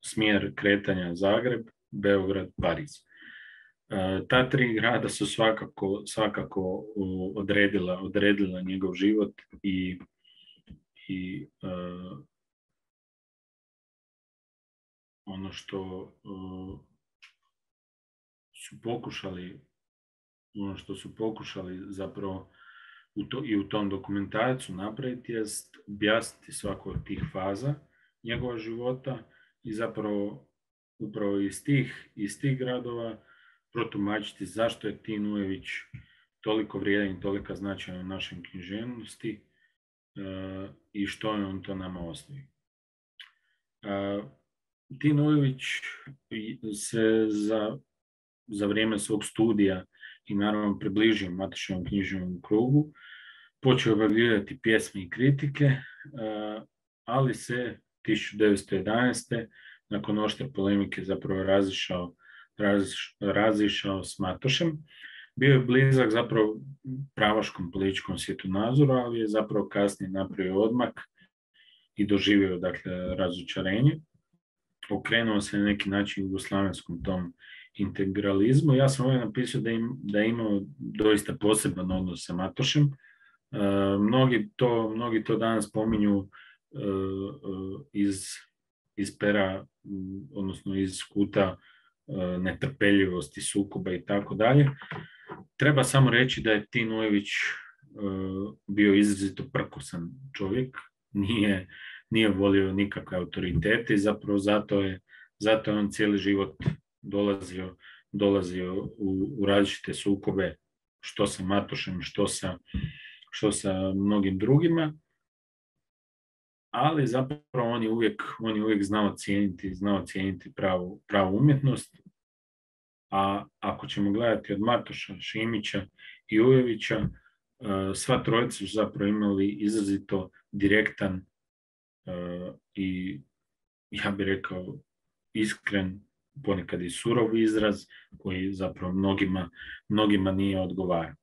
S1: smjer kretanja Zagreb, Beograd, Pariz. Uh, ta tri grada su svakako, svakako odredila, odredila njegov život i, i uh, ono što uh, su pokušali ono što su pokušali zapravo u to, i u tom dokumentarcu napraviti jest objasniti svaku od tih faza njegova života i zapravo upravo iz tih, iz tih gradova protumačiti zašto je Tin Ujević toliko vrijedan i tolika značajan u našoj književnosti uh, i što je on to nama ostavio. Uh, Tin Ujević se za, za vrijeme svog studija i naravno približio Matoševom književnom krugu, počeo objavljivati pjesme i kritike, uh, ali se tisuću devetsto jedanaeste. nakon oštre polemike zapravo razišao, raziš, razišao s Matošem. Bio je blizak zapravo pravaškom političkom svjetonazoru, ali je zapravo kasnije napravio odmak i doživio dakle razočarenje. Okrenuo se na neki način jugoslavenskom tom integralizmu. Ja sam ovdje napisao da, im, da je imao doista poseban odnos sa Matošem. Uh, mnogi, to, mnogi to danas spominju uh, uh, iz, iz pera, um, odnosno iz kuta uh, netrpeljivosti, sukoba i tako dalje. Treba samo reći da je Tin Ujević uh, bio izrazito prkosan čovjek, nije, nije volio nikakve autoritete i zapravo zato je, zato je on cijeli život dolazio, dolazio u, u različite sukobe, što sa Matošem, što sa, što sa mnogim drugima, ali zapravo on je uvijek, on je uvijek znao cijeniti, znao cijeniti pravu, pravu umjetnost, a ako ćemo gledati od Matoša, Šimića i Ujevića, sva trojica su zapravo imali izrazito direktan i, ja bih rekao, iskren, ponekad i surov izraz koji zapravo mnogima, mnogima nije odgovarao.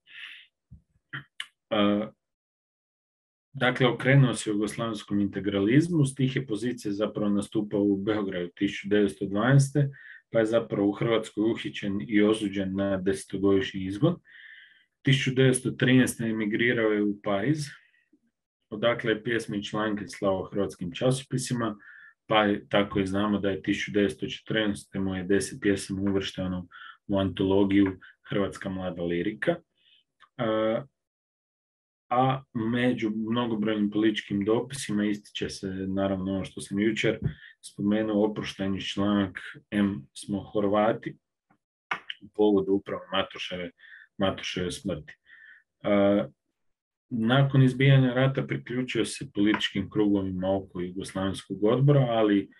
S1: Dakle, okrenuo se jugoslavenskom integralizmu, s tih je pozicije zapravo nastupao u Beogradu tisuću devetsto dvanaeste. pa je zapravo u Hrvatskoj uhićen i osuđen na desetogodišnji izgon. tisuću devetsto trinaeste. emigrirao je u Pariz, odakle je pjesme i članke slao hrvatskim časopisima, pa je, tako i znamo da je tisuću devetsto četrnaeste. mu je deset pjesama uvršteno u antologiju Hrvatska mlada lirika. A, a među mnogobrojnim političkim dopisima ističe se naravno ono što sam jučer spomenuo, oproštajni članak M smo Horvati u povodu upravo Matoševe, Matoševe smrti. A, nakon izbijanja rata priključio se političkim krugovima oko Jugoslavenskog odbora, ali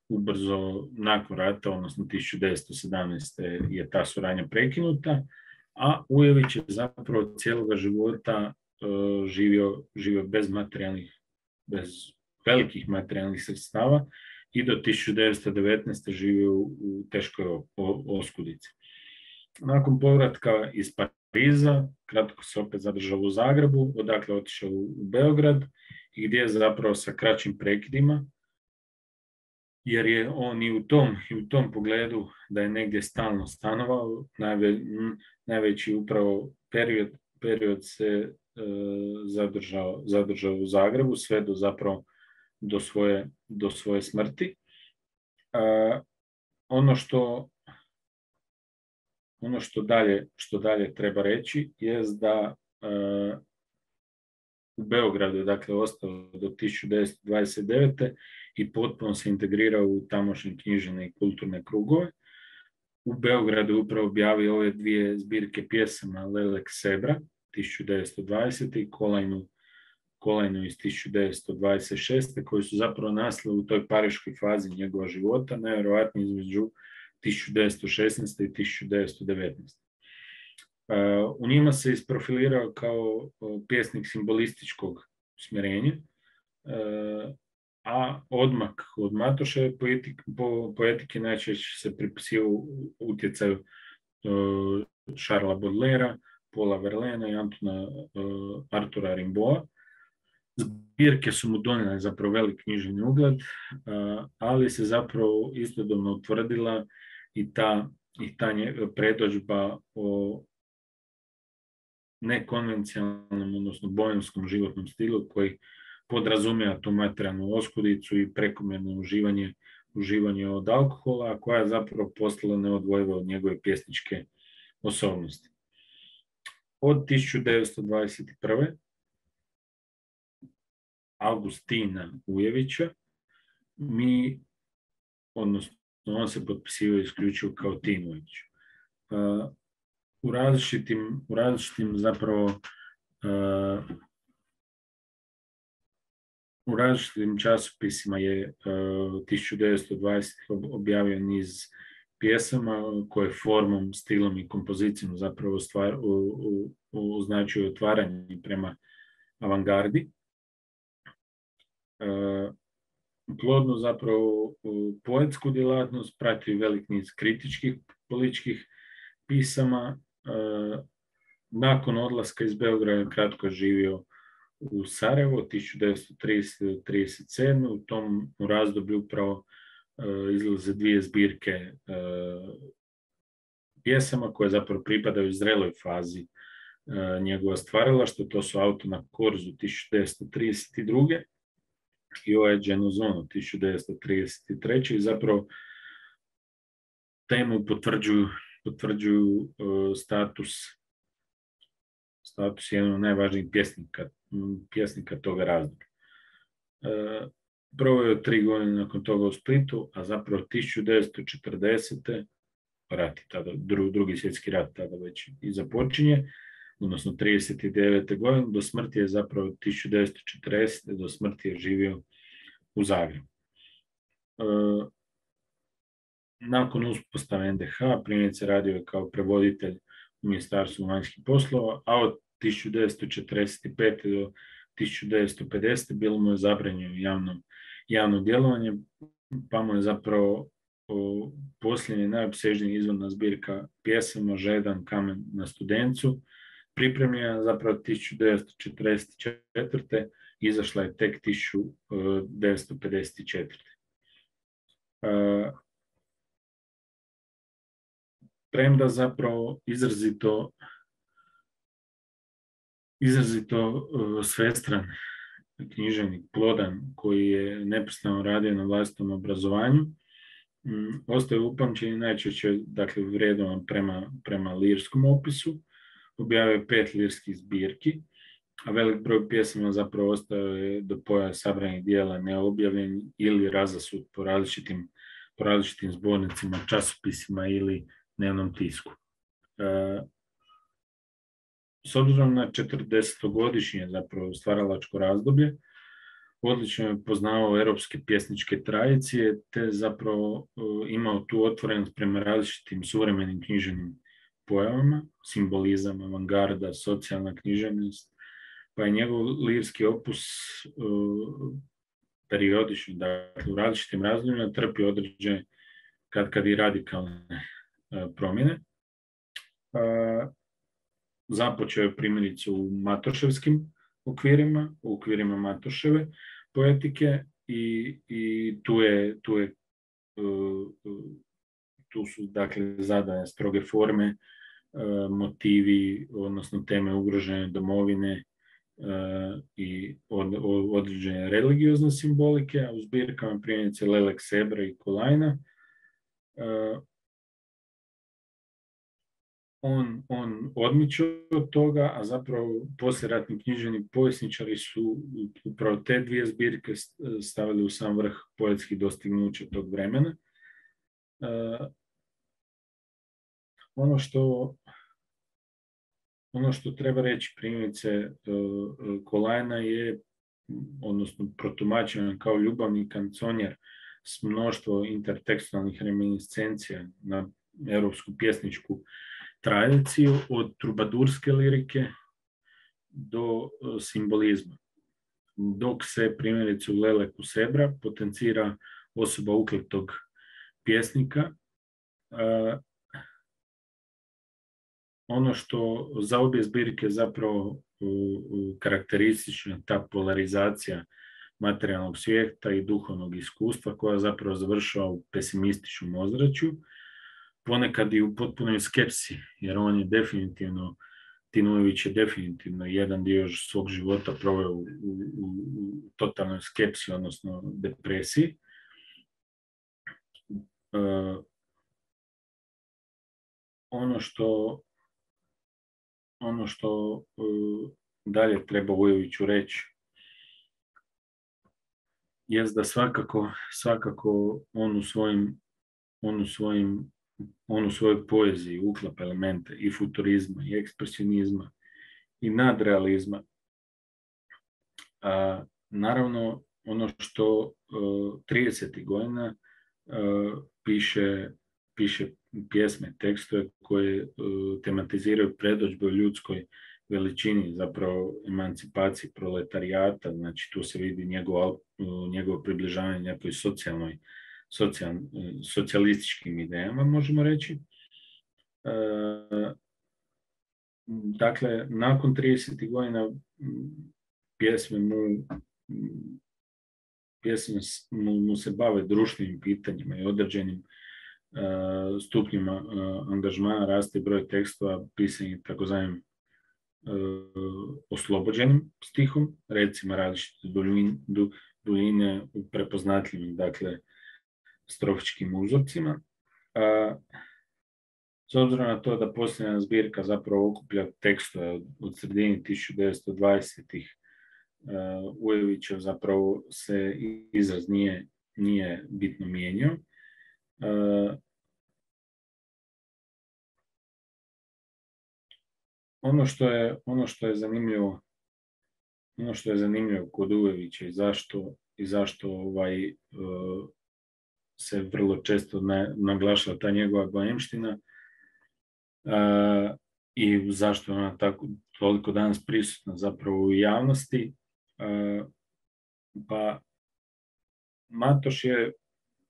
S1: ubrzo nakon rata, odnosno tisuću devetsto sedamnaeste. je ta suradnja prekinuta, a Ujević je zapravo cijeloga života uh, živio, živio bez materijalnih, bez velikih materijalnih sredstava i do tisuću devetsto devetnaeste živio u teškoj oskudici. Nakon povratka iz Pariza, kratko se opet zadržao u Zagrebu, odakle otišao u Beograd i gdje je zapravo sa kraćim prekidima, jer je on i u tom, i u tom pogledu da je negdje stalno stanovao, najve, najveći upravo period, period se e, zadržao, zadržao u Zagrebu, sve do zapravo do svoje, do svoje smrti. E, ono što ono što dalje, što dalje treba reći je da e, u Beogradu je dakle ostao do tisuću devetsto dvadeset devete i potpuno se integrirao u tamošnje književne i kulturne krugove. U Beogradu je upravo objavio ove dvije zbirke pjesama Lelek Sebra tisuću devetsto dvadesete i Kolajnu, Kolajnu iz tisuću devetsto dvadeset šeste koji su zapravo nastali u toj pariškoj fazi njegova života, najvjerojatnije između tisuću devetsto šesnaeste i tisuću devetsto devetnaeste. U njima se isprofilirao kao pjesnik simbolističkog smjerenja, a odmak od Matoševe poetike, po, poetike najčešće se pripisivao utjecaju Šarla Baudelaira, Paula Verlaina i Antona Artura Rimbaua. Zbirke su mu donijele zapravo velik književni ugled, ali se zapravo istodobno utvrdila i ta, i ta predodžba o nekonvencionalnom, odnosno bohemskom životnom stilu koji podrazumijeva tu materijalnu oskudicu i prekomjerno uživanje, uživanje od alkohola, a koja je zapravo postala neodvojiva od njegove pjesničke osobnosti. Od tisuću devetsto dvadeset prve. Augustina Ujevića mi, odnosno on se potpisivao isključivo kao Tin Ujević. Uh, u različitim, u različitim zapravo uh, u različitim časopisima je uh, tisuću devetsto dvadesete objavio niz pjesama koje formom, stilom i kompozicijom zapravo stvar, u, u, u, označuju otvaranje prema avangardi. Uh, plodnu zapravo poetsku djelatnost prati velik niz kritičkih političkih pisama. Uh, nakon odlaska iz Beograda kratko je živio u Sarajevu tisuću devetsto tridesete do trideset sedme. U tom u razdoblju upravo uh, izlaze dvije zbirke uh, pjesama koje zapravo pripadaju zreloj fazi uh, njegova stvaralaštva. To su Auto na korzu tisuću devetsto trideset druge. i ovaj Genozono tisuću devetsto trideset treće. i zapravo temu potvrđuju, potvrđuju uh, status status jednog od najvažnijih pjesnika, pjesnika toga razdoblja. Uh, proveo je tri godine nakon toga u Splitu, a zapravo tisuću devetsto četrdesete rat, tada, dru, drugi svjetski rat tada već i započinje, odnosno trideset devete godine, do smrti je zapravo tisuću devetsto četrdesete do smrti je živio u Zagrebu. E, nakon uspostave en de ha primjerice radio je kao prevoditelj u Ministarstvu vanjskih poslova, a od tisuću devetsto četrdeset pete do tisuću devetsto pedesete bilo mu je zabranjeno javno, javno djelovanje, pa mu je zapravo o, posljednje najopsežnije izvorna zbirka pjesama Žedan kamen na Studencu pripremljena zapravo tisuću devetsto četrdeset četvrte. izašla je tek tisuću devetsto pedeset četvrte. Uh, premda zapravo izrazito izrazito uh, svestran književnik, plodan, koji je neprestano radio na vlastitom obrazovanju, um, ostaje upamćen najčešće, dakle, vredovan prema, prema lirskom opisu. Objavio je pet lirskih zbirki, a velik broj pjesama zapravo ostao je do pojavi sabranih dijela neobjavljen ili razasut po različitim, po različitim zbornicima, časopisima ili dnevnom tisku. E, s obzirom na četrdesetogodišnje zapravo stvaralačko razdoblje, odlično je poznavao europske pjesničke tradicije, te zapravo e, imao tu otvorenost prema različitim suvremenim književnim pojavama, simbolizam, avangarda, socijalna književnost, pa je njegov lirski opus uh, periodično, dakle u različitim razdobljima trpi određene kad kad i radikalne uh, promjene. Uh, započeo je primjerice u Matoševskim okvirima, u okvirima Matoševe poetike i, i tu je, tu je uh, tu su dakle zadane stroge forme, uh, motivi, odnosno teme ugrožene domovine uh, i od, od, određene religiozne simbolike, a u zbirkama primjerice Lelek Sebra i Kolajna uh, On, on odmiče od toga, a zapravo poslijeratni književni povjesničari su upravo te dvije zbirke stavili u sam vrh poetskih dostignuća tog vremena. Uh, ono što ono što treba reći primjerice uh, Kolajna je, odnosno protumačen kao ljubavni kanconjer s mnoštvo intertekstualnih reminiscencija na europsku pjesničku tradiciju od trubadurske lirike do simbolizma. Dok se primjerice u Leleku Sebra potencira osoba ukletog pjesnika, uh, ono što za obje zbirke zapravo uh, uh, karakteristična ta polarizacija materijalnog svijeta i duhovnog iskustva koja zapravo završava u pesimističnom ozračju, ponekad i u potpunoj skepsi, jer on je definitivno, Tin Ujević je definitivno jedan dio svog života proveo u, u, u totalnoj skepsi, odnosno depresiji. Uh, ono što ono što uh, dalje treba Ujeviću reći jest da svakako, svakako on u svojim on u svojim on u svojoj poeziji uklapa elemente i futurizma, i ekspresionizma, i nadrealizma. A, naravno, ono što uh, tridesetih godina uh, piše, piše pjesme, tekstove koje uh, tematiziraju predodžbe o ljudskoj veličini, zapravo emancipaciji proletarijata, znači tu se vidi njegovo, uh, njegovo približavanje nekoj socijalnoj Socijal, socijalističkim idejama, možemo reći. E, dakle, nakon tridesetih godina pjesme mu, pjesme mu, mu se bave društvenim pitanjima i određenim e, stupnjima e, angažmana, raste broj tekstova pisanih takozvanim e, oslobođenim stihom, recimo različite duljine, duljine u prepoznatljivim, dakle, strofičkim uzorcima. A, s obzirom na to da posljednja zbirka zapravo okuplja tekstove od, od sredine tisuću devetsto dvadesetih uh, Ujevićev zapravo se izraz nije, nije bitno mijenjao. Uh, ono što je, ono što je zanimljivo ono što je zanimljivo kod Ujevića i zašto, i zašto ovaj uh, se vrlo često naglašava ta njegova boemština uh, i zašto je ona tako toliko danas prisutna zapravo u javnosti. Uh, pa Matoš je,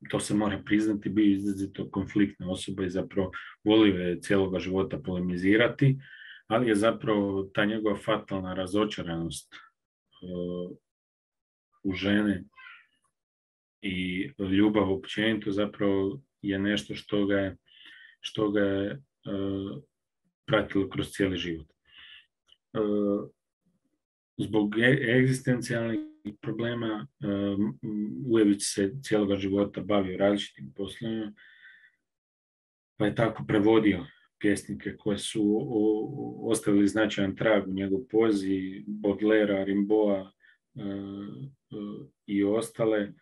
S1: to se mora priznati, bio izrazito konfliktna osoba i zapravo volio je cijeloga života polemizirati, ali je zapravo ta njegova fatalna razočaranost uh, u žene i ljubav općenito zapravo je nešto što ga je, što ga je uh, pratilo kroz cijeli život. Uh, zbog egzistencijalnih problema uh, Ujević se cijeloga života bavio različitim poslovima, pa je tako prevodio pjesnike koje su o, ostavili značajan trag u njegovoj poeziji, Baudelaire, Rimbaud uh, uh, i ostale,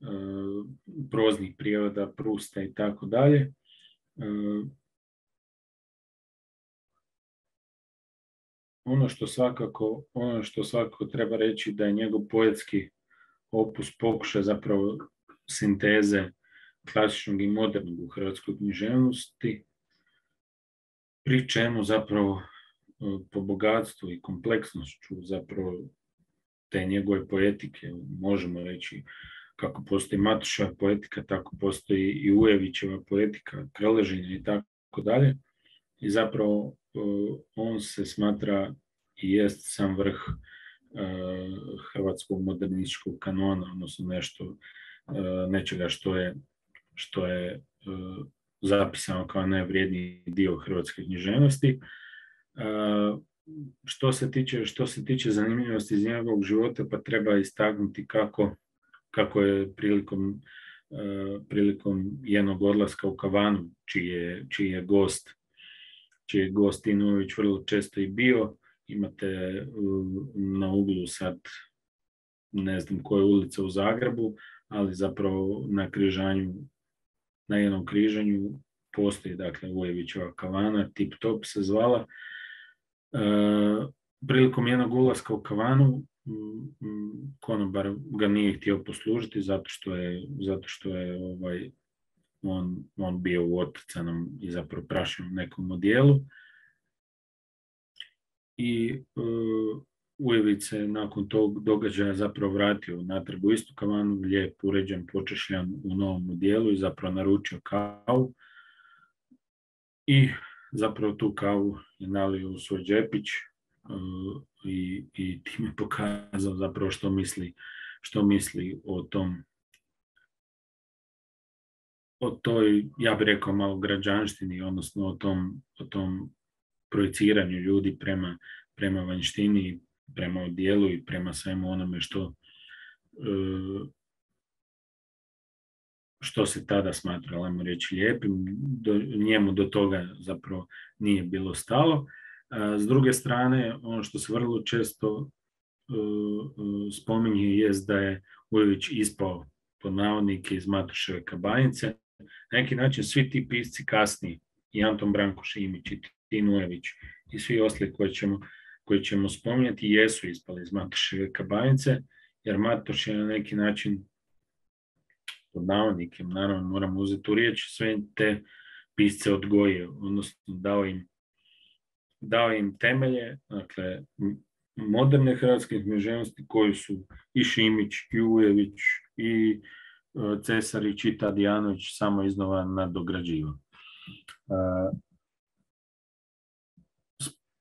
S1: Uh, proznih prijevoda, Prusta i tako dalje. Uh, ono što svakako, ono što svakako treba reći da je njegov poetski opus pokušaj zapravo sinteze klasičnog i modernog u hrvatskoj književnosti, pri čemu zapravo po bogatstvu i kompleksnošću zapravo te njegove poetike. Možemo reći kako postoji Matoševa poetika, tako postoji i Ujevićeva poetika, Krležina i tako dalje. I zapravo on se smatra i jest sam vrh hrvatskog modernističkog kanona, odnosno nešto, nečega što je, što je zapisano kao najvrijedniji dio hrvatske književnosti. Što se tiče, što se tiče zanimljivosti iz njegovog života, pa treba istaknuti kako, kako je prilikom, prilikom jednog odlaska u Kavanu, čiji je, čiji je gost, čiji je gost Inujević vrlo često i bio. Imate na uglu sad, ne znam koje ulice u Zagrebu, ali zapravo na križanju, na jednom križanju postoji, dakle, Ujevićeva kavana, Tip Top se zvala. E, prilikom jednog ulaska u kavanu konobar ga nije htio poslužiti zato što je, zato što je ovaj, on, on bio u otrcanom i zapravo prašenom nekom odijelu. I uh, Ujević se nakon tog događaja zapravo vratio natrag u istu kavanu, lijep, uređen, počešljan u novom odijelu i zapravo naručio kavu. I zapravo tu kavu je nalio u svoj džepić uh, i, i time pokazao zapravo što misli, što misli o tom, o toj, ja bih rekao, malo građanštini, odnosno o tom, o tom projiciranju ljudi prema, prema vanjštini, prema odijelu i prema svemu onome što, što se tada smatralo, ajmo reći, lijepim. Do, njemu do toga zapravo nije bilo stalo. S druge strane, ono što se vrlo često spominje jest da je Ujević ispao pod navodnike iz Matoševe kabanice. Na neki način svi ti pisci kasniji, i Anton Branko Šimić, i Tin Ujević i svi ostali koji ćemo, koji ćemo spominjati, jesu ispali iz Matoševe kabanice, jer Matoš je na neki način, pod navodnikem, naravno moramo uzeti u riječ, sve te pisce odgojio, odnosno dao im, dao im temelje, dakle, moderne hrvatske književnosti koji su i Šimić, i Ujević, i Cesarić, i Tadijanović samo iznova nadograđivao.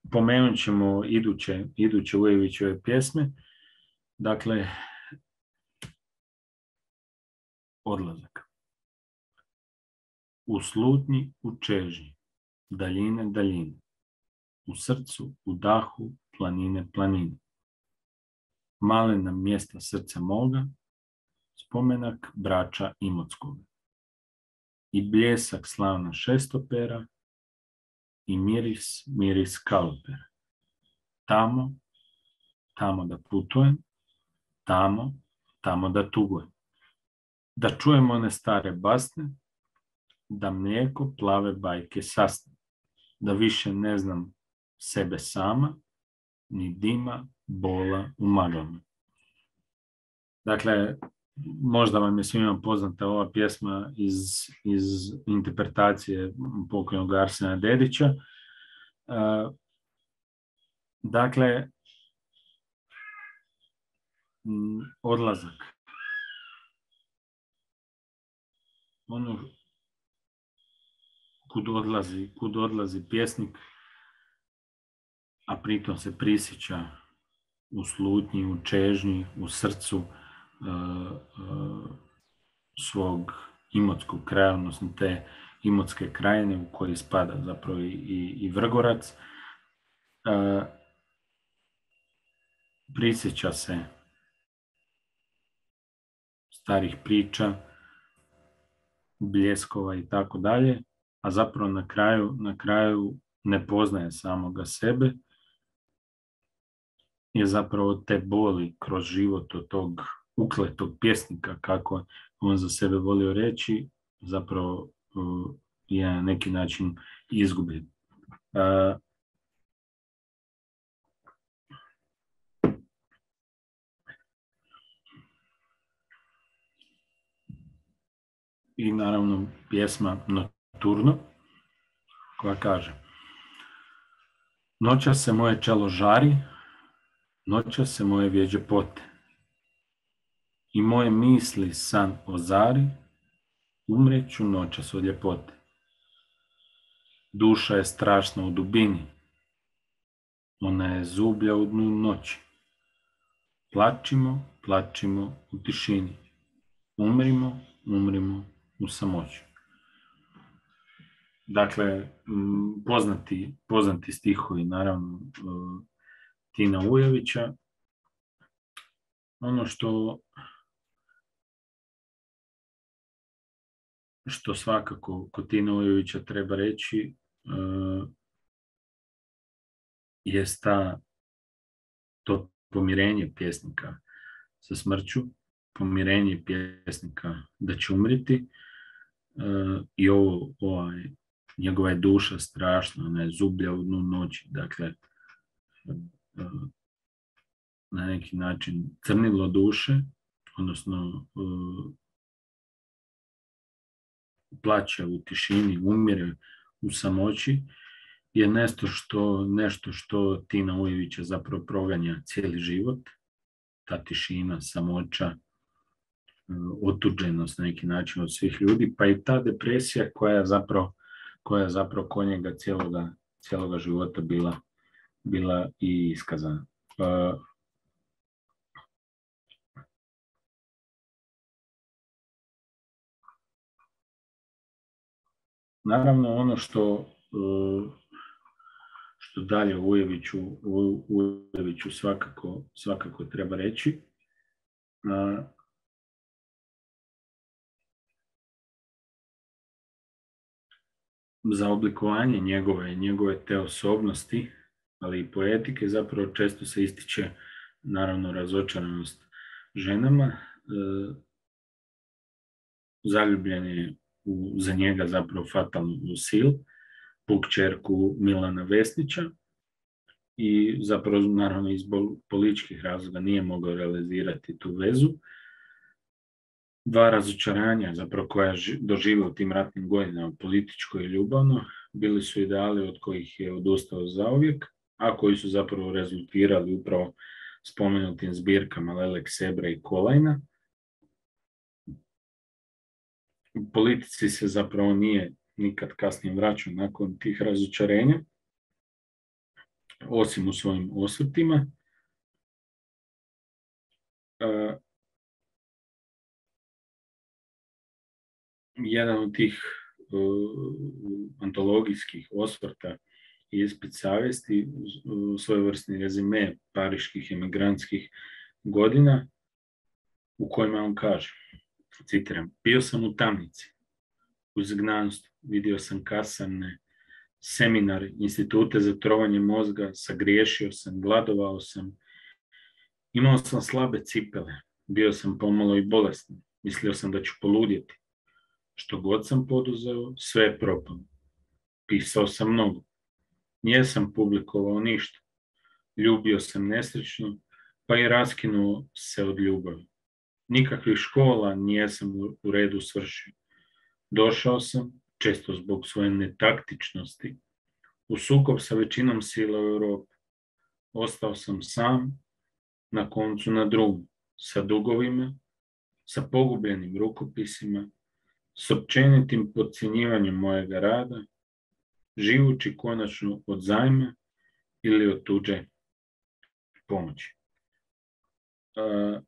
S1: Spomenut ćemo iduće, iduće Ujevićeve pjesme. Dakle, Odlazak. U slutnji, u čežnji, daljine, daljine, u srcu, u dahu, planine, planine. Malena mjesta srca moga, spomenak braća Imotskoga. I bljesak slavna šestopera, i miris, miris kalopera. Tamo, tamo da putujem, tamo, tamo da tugujem. Da čujem one stare basne, da mlijeko plave bajke sasne. Da više ne znam sebe sama, ni dima, bola u maglama. Dakle, možda vam je svima poznata ova pjesma iz, iz interpretacije pokojnog Arsena Dedića. Uh, dakle, m, odlazak. Ono kud odlazi, kud odlazi pjesnik, a pritom se prisjeća u slutnji, u čežnji, u srcu uh, uh, svog imotskog kraja, odnosno te imotske krajine u koji spada zapravo i, i, i Vrgorac. Uh, prisjeća se starih priča, bljeskova i tako dalje, a zapravo na kraju, na kraju ne poznaje samoga sebe, je zapravo te boli kroz život od tog ukletog pjesnika, kako on za sebe volio reći, zapravo uh, je na neki način izgubljen. Uh, I naravno pjesma Nocturno, koja kaže: Noćas se moje čelo žari, noćas se moje vjeđe pote. I moje misli san ozari, umreću noćas od ljepote. Duša je strašna u dubini, ona je zublja u dnu noći. Plačimo, plačimo u tišini, umrimo, umrimo u samoći. Dakle, poznati, poznati stihovi, naravno, Tina Ujevića. Ono što, što svakako kod Tina Ujevića treba reći je ta, to pomirenje pjesnika sa smrću, pomirenje pjesnika da će umriti i ovo, ovaj, njegova je duša strašna, ona je zublja u dnu noći, dakle, na neki način crnilo duše, odnosno plaće u tišini, umire u samoći, je nešto što, nešto što Tina Ujevića zapravo proganja cijeli život, ta tišina, samoća, otuđenost na neki način od svih ljudi, pa i ta depresija koja je zapravo, koja je zapravo kod njega cijeloga, cijeloga života bila, bila i iskazana. Uh, naravno, ono što, uh, što dalje u Ujeviću, u Ujeviću svakako, svakako treba reći, uh, za oblikovanje njegove, njegove te osobnosti, ali i poetike, zapravo često se ističe, naravno, razočaranost ženama. E, zaljubljen je u, za njega zapravo fatalnu Lucille, pukćerku Milana Vesnića, i zapravo, naravno, iz političkih razloga nije mogao realizirati tu vezu. Dva razočaranja, zapravo, koja je doživio u tim ratnim godinama, političko i ljubavno, bili su ideali od kojih je odustao zauvijek, a koji su zapravo rezultirali upravo spomenutim zbirkama Lelek Sebra i Kolajna. U politici se zapravo nije nikad kasnije vraćao nakon tih razočarenja, osim u svojim osvrtima. Uh, jedan od tih uh, antologijskih osvrta i ispit savjesti, uh, svojevrsni rezime pariških emigrantskih godina, u kojima on kaže, citiram: bio sam u tamnici, u izgnanstvu, vidio sam kasarne, seminar, institute za trovanje mozga, sagriješio sam, gladovao sam, imao sam slabe cipele, bio sam pomalo i bolestan, mislio sam da ću poludjeti. Što god sam poduzeo, sve je propalo. Pisao sam mnogo. Nijesam publikovao ništa. Ljubio sam nesrećno, pa i raskinuo se od ljubavi. Nikakvih škola nijesam u redu svršio. Došao sam, često zbog svoje netaktičnosti, u sukob sa većinom sila u Europi. Ostao sam sam, na koncu na drugu, sa dugovima, sa pogubljenim rukopisima, s općenitim podcjenjivanjem mojega rada, živući konačno od zajma ili od tuđe pomoći. Uh,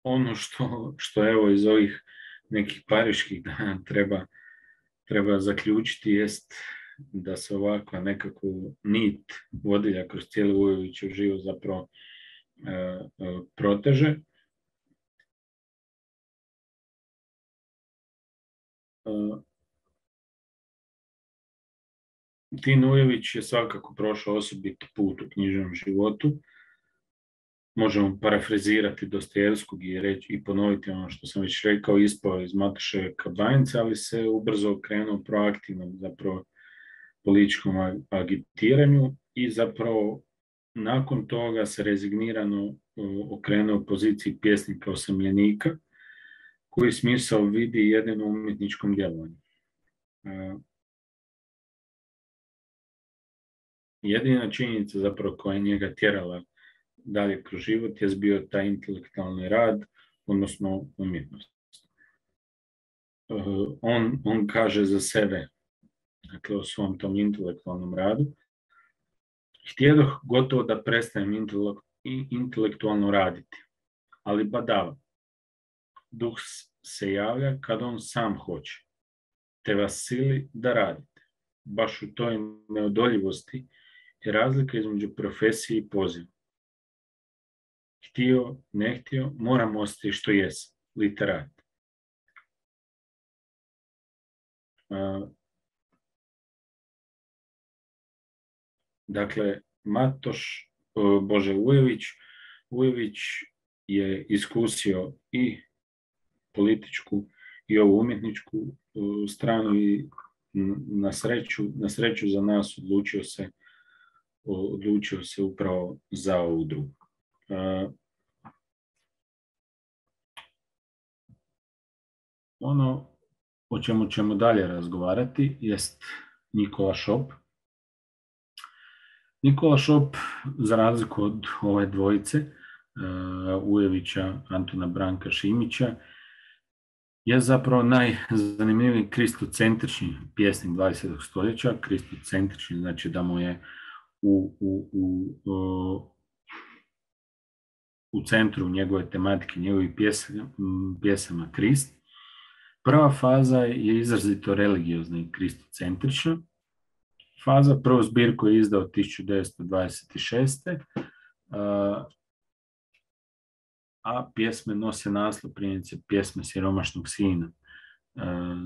S1: ono što, što evo iz ovih nekih pariških dana treba, treba zaključiti jest da se ovakva nekakvu nit vodilja kroz cijeli Ujevićev život zapravo uh, uh, proteže. Uh, Tin Ujević je svakako prošao osobiti put u književnom životu. Možemo parafrazirati Dostojevskog i reći i ponoviti ono što sam već rekao, ispao iz Matoševe kabanjice, ali se ubrzo okrenuo proaktivnom zapravo političkom agitiranju i zapravo nakon toga se rezignirano okrenuo poziciji pjesnika osamljenika, koji smisao vidi jedino u umjetničkom djelovanju. Jedina činjenica zapravo koja je njega tjerala dalje kroz život je bio taj intelektualni rad, odnosno umjetnost. On, on kaže za sebe, dakle o svom tom intelektualnom radu, htjedoh gotovo da prestanem intelektualno raditi, ali badava, duh se javlja kad on sam hoće, te vas sili da radite. Baš u toj neodoljivosti je razlika između profesije i poziva. Htio, ne htio, moram ostati što jesam, literat. Uh, dakle, Matoš, uh, Bože, Vujović, Vujović je iskusio i političku i ovu umjetničku uh, stranu i na sreću, na sreću za nas odlučio se, odlučio se upravo za ovu drugu. Uh, ono o čemu ćemo dalje razgovarati jest Nikola Šop. Nikola Šop, za razliku od ove dvojice, uh, Ujevića, Antuna Branka Šimića, je zapravo najzanimljiviji kristocentrični pjesnik dvadesetog stoljeća. Kristocentrični znači da mu je u, u, u, u, u centru njegove tematike, njegovih pjesama, pjesama Krist. Prva faza je izrazito religiozna i kristocentrična. Faza, prvu zbirku je izdao tisuću devetsto dvadeset šeste. A pjesme nose naslov, primjerice pjesme Siromašnog sina,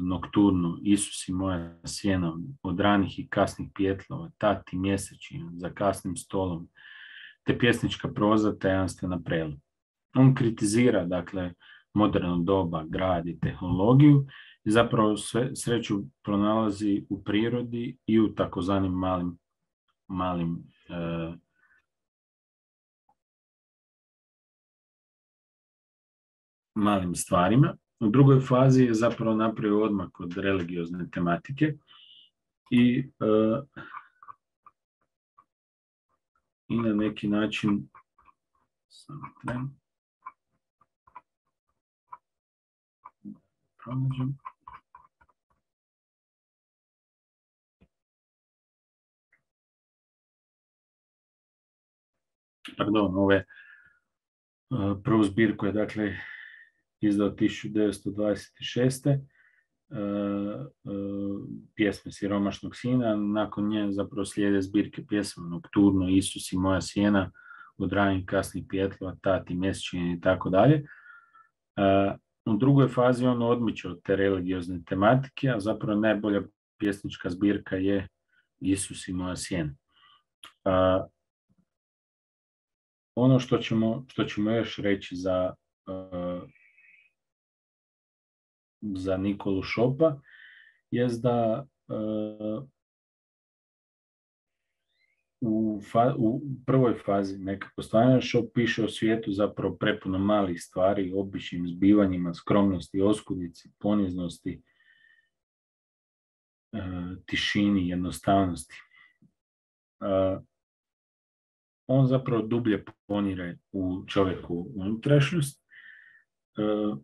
S1: Nokturno, Isus i moja sjena, Od ranih i kasnih pijetlova, Tati mjesečina, Za kasnim stolom, te pjesnička proza Tajanstvena prela. On kritizira, dakle, moderno doba, grad i tehnologiju i zapravo sve, sreću pronalazi u prirodi i u takozvanim malim, malim e, malim stvarima. U drugoj fazi je zapravo napravio odmak od religiozne tematike i, uh, i na neki način samo tren, pronađem. Pardon, ove uh, prvu zbirku je dakle izdao tisuću devetsto dvadeset šeste. Uh, uh, pjesme Siromašnog sina, nakon nje zapravo slijede zbirke pjesama Nokturno, Isus i moja sjena, Od ranih kasnih pijetlova, Tati mjesečine i tako dalje. U drugoj fazi on odmiče od te religiozne tematike, a zapravo najbolja pjesnička zbirka je Isus i moja sjena. Uh, ono što ćemo, što ćemo još reći za uh, za Nikolu Šopa je da uh, u, fa, u prvoj fazi nekako stvarno Šop piše o svijetu zapravo prepuno malih stvari, običnim zbivanjima, skromnosti, oskudici, poniznosti, uh, tišini, jednostavnosti. Uh, on zapravo dublje ponire u čovjeku unutrašnjost. Uh,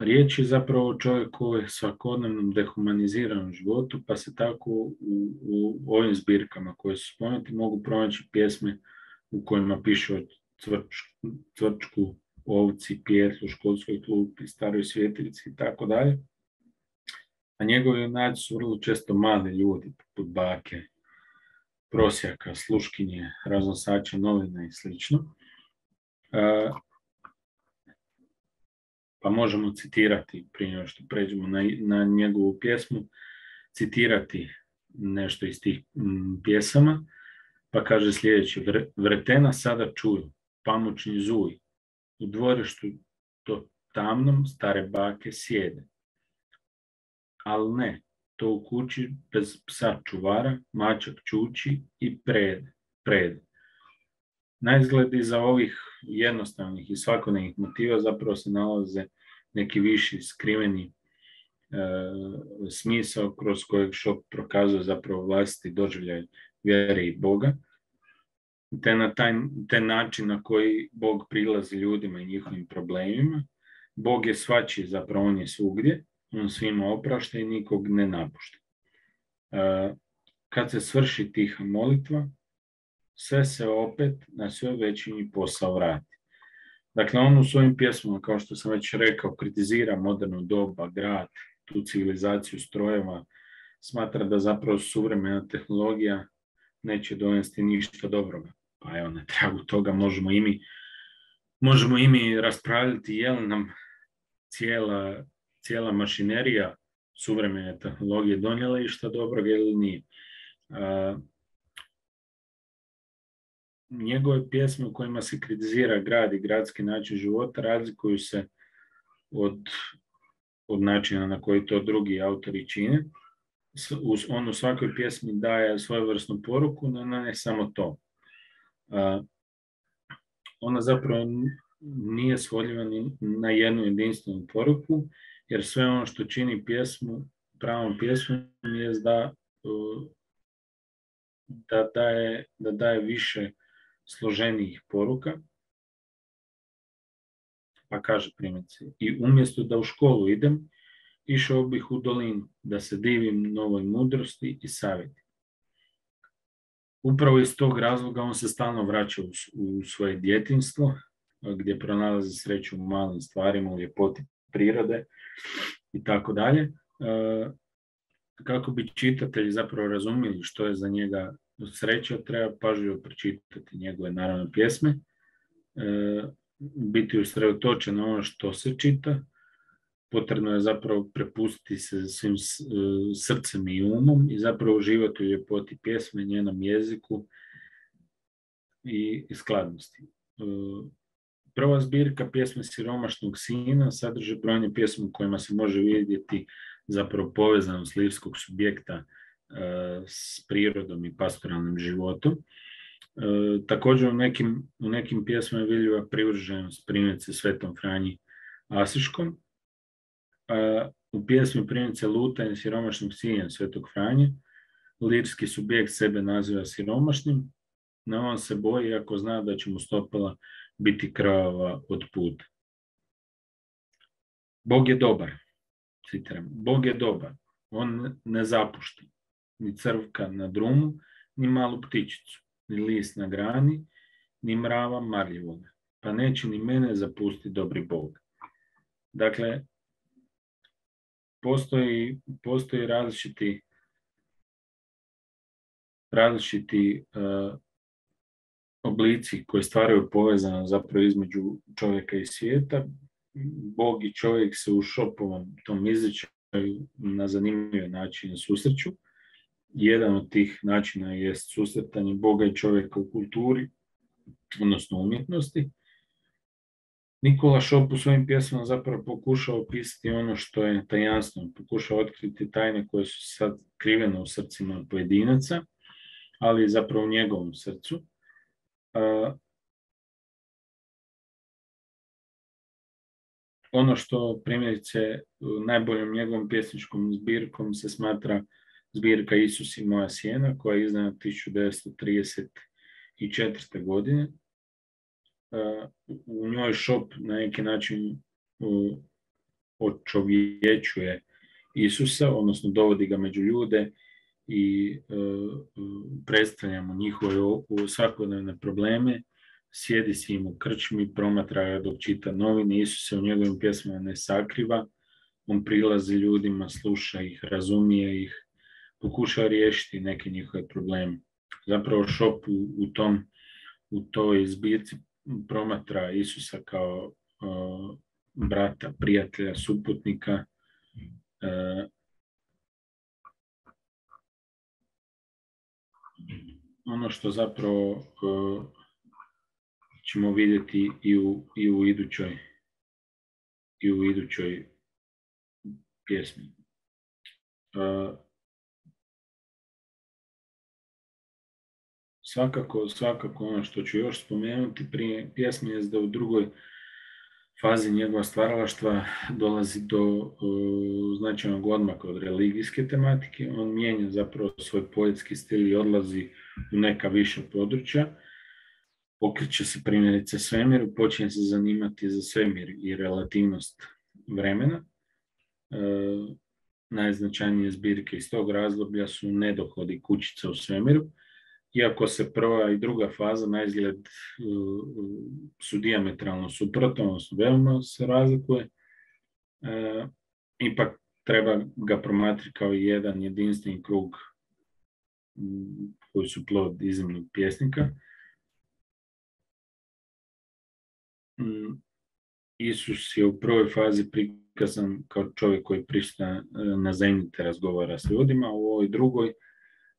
S1: Riječ je zapravo o čovjeku u svakodnevnom dehumaniziranom životu, pa se tako u, u ovim zbirkama koje su spomenuti mogu pronaći pjesme u kojima piše o cvrč, cvrčku, ovci, pijetlu, školskoj klupi, staroj svjetiljci i tako dalje. A njegovi junaci su vrlo često mali ljudi, poput bake, prosjaka, sluškinje, raznosača novina i slično. Uh, Pa možemo citirati, prije nego što pređemo na, na njegovu pjesmu, citirati nešto iz tih m, pjesama, pa kaže sljedeće: Vretena sada čuju, pamučni zuj, u dvorištu to tamnom stare bake sjede. Al ne, to u kući bez psa čuvara, mačak čuči i prede. prede. Na izgled iza ovih jednostavnih i svakodnevnih motiva zapravo se nalaze neki viši skriveni e, smisao kroz kojeg Šop prokazuje zapravo vlastiti doživljaj vjere i Boga, te na taj te način na koji Bog prilazi ljudima i njihovim problemima. Bog je svačiji, zapravo on je svugdje, on svima oprašta i nikog ne napušta. E, kad se svrši tiha molitva, sve se opet na sve veći posao vrati. Dakle, on u svojim pjesmama, kao što sam već rekao, kritizira modernu doba, grad, tu civilizaciju strojeva, smatra da zapravo suvremena tehnologija neće donesti ništa dobroga. Pa evo, na tragu toga možemo i mi, možemo i mi raspravljati je li nam cijela, cijela mašinerija suvremene tehnologije donijela išta dobroga ili nije. A, njegove pjesme u kojima se kritizira grad i gradski način života razlikuju se od, od načina na koji to drugi autori čine. On u svakoj pjesmi daje svojevrsnu poruku, no ne samo to. Uh, ona zapravo nije svodljiva ni na jednu jedinstvenu poruku, jer sve ono što čini pjesmu, pravom pjesmom je da, uh, da, daje, da daje više složenijih poruka. Pa kaže primjerice, i umjesto da u školu idem, išao bih u dolinu, da se divim novoj mudrosti i savjeti. Upravo iz tog razloga on se stalno vraća u, u svoje djetinjstvo, gdje pronalazi sreću u malim stvarima, u ljepoti prirode i tako dalje. Kako bi čitatelji zapravo razumjeli što je za njega sreća, treba pažljivo pročitati njegove naravno pjesme, biti usredotočen na ono što se čita. Potrebno je zapravo prepustiti se svim srcem i umom i zapravo uživati u ljepoti pjesme, njenom jeziku i skladnosti. Prva zbirka pjesme Siromašnog sina sadrži brojne pjesme u kojima se može vidjeti zapravo povezanost lirskog subjekta s prirodom i pastoralnim životom. Također u nekim, u nekim pjesmama je vidljiva privrženost primjerice Svetom Franji Asiškom. U pjesmi primjerice Lutanje siromašnog sina Svetog Franje lirski subjekt sebe naziva siromašnim, no on se boji ako zna da će mu stopala biti krvava od puta. Bog je dobar, citiram, Bog je dobar, on ne zapušta ni crvka na drumu, ni malu ptičicu, ni list na grani, ni mrava marljivoga, pa neće ni mene zapustiti dobri Bog. Dakle, postoji, postoji različiti različiti uh, oblici koji stvaraju povezano zapravo između čovjeka i svijeta. Bog i čovjek se u Šopovom tom izričaju na zanimljiv način susreću. Jedan od tih načina je susretanje Boga i čovjeka u kulturi, odnosno umjetnosti. Nikola Šop u svojim pjesmama zapravo pokušao opisati ono što je tajanstveno, pokušao otkriti tajne koje su sad krivene u srcima pojedinaca, ali zapravo u njegovom srcu. Uh, ono što primjerice najboljom njegovom pjesničkom zbirkom se smatra zbirka Isus i moja sjena, koja je izdana tisuću devetsto trideset četvrte. godine. Uh, u njoj Šop na neki način uh, očovječuje Isusa, odnosno dovodi ga među ljude i uh, predstavljamo njihove svakodnevne probleme, sjedi s njim u krčmi, promatra ga dok čita novine, Isus se u njegovim pjesmama ne sakriva, on prilazi ljudima, sluša ih, razumije ih, pokušava riješiti neke njihove probleme. Zapravo Šop u, u, tom, u toj zbirci promatra Isusa kao uh, brata, prijatelja, suputnika, uh, ono što zapravo uh, ćemo vidjeti i u, i u idućoj i u idućoj pjesmi. Uh, svakako, svakako ono što ću još spomenuti prije pjesme je da u drugoj fazi njegova stvaralaštva dolazi do uh, značajnog odmaka od religijske tematike. On mijenja zapravo svoj poetski stil i odlazi u neka viša područja. Okreće se primjerice svemiru, počinje se zanimati za svemir i relativnost vremena. Uh, najznačajnije zbirke iz tog razdoblja su Nedohodi kućica u svemiru. Iako se prva i druga faza na izgled uh, su dijametralno suprotne, odnosno veoma se razlikuje, uh, ipak treba ga promatrati kao jedan jedinstveni krug um, koji su plod iznimnog pjesnika. Um, Isus je u prvoj fazi prikazan kao čovjek koji prišta na zemlji te razgovara s ljudima, u ovoj drugoj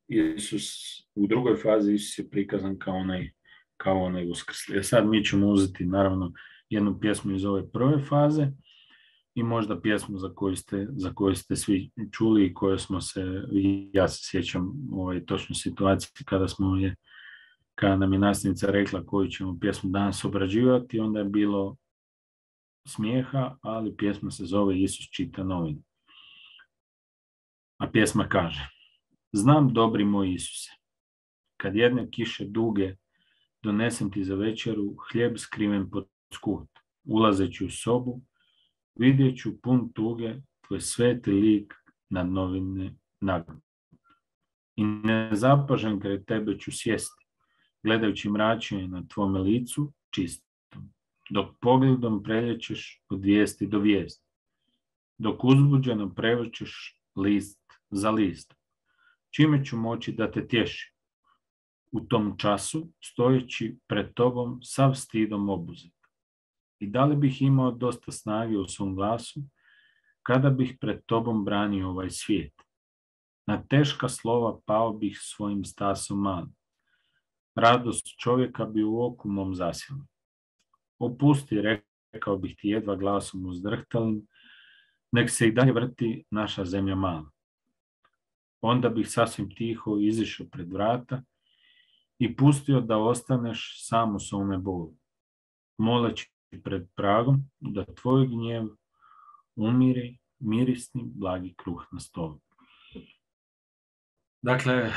S1: Isus, u drugoj fazi Isus je prikazan kao onaj, kao onaj uskrsli. E sad mi ćemo uzeti naravno jednu pjesmu iz ove prve faze i možda pjesmu za koju ste, za koju ste svi čuli i koje smo se, ja se sjećam ovaj, točno situacije kada smo je, kada nam je nastavnica rekla koju ćemo pjesmu danas obrađivati, onda je bilo smijeha, ali pjesma se zove Isus čita novine. A pjesma kaže: znam, dobri moj Isuse, kad jedne kiše duge donesem ti za večeru hljeb skriven pod skut, ulazeći u sobu, vidjet ću pun tuge tvoj sveti lik nad novine nagnu. I nezapažen kraj tebe ću sjesti, gledajući mračenje na tvome licu čistom, dok pogledom preljećeš od vijesti do vijesti, dok uzbuđeno prevrćeš list za list. Čime ću moći da te tješim? U tom času, stojeći pred tobom, sav stidom obuzet. I da li bih imao dosta snage u svom glasu, kada bih pred tobom branio ovaj svijet? Na teška slova pao bih svojim stasom malim. Radost čovjeka bi u oku mom zasjela. Opusti, rekao bih ti jedva glasom uzdrhtalim, nek se i dalje vrti naša zemlja mala. Onda bih sasvim tiho izišao pred vrata i pustio da ostaneš sam u svome bolu, moleći pred pragom da tvoj gnjev umiri mirisni blagi kruh na stolu. Dakle, e,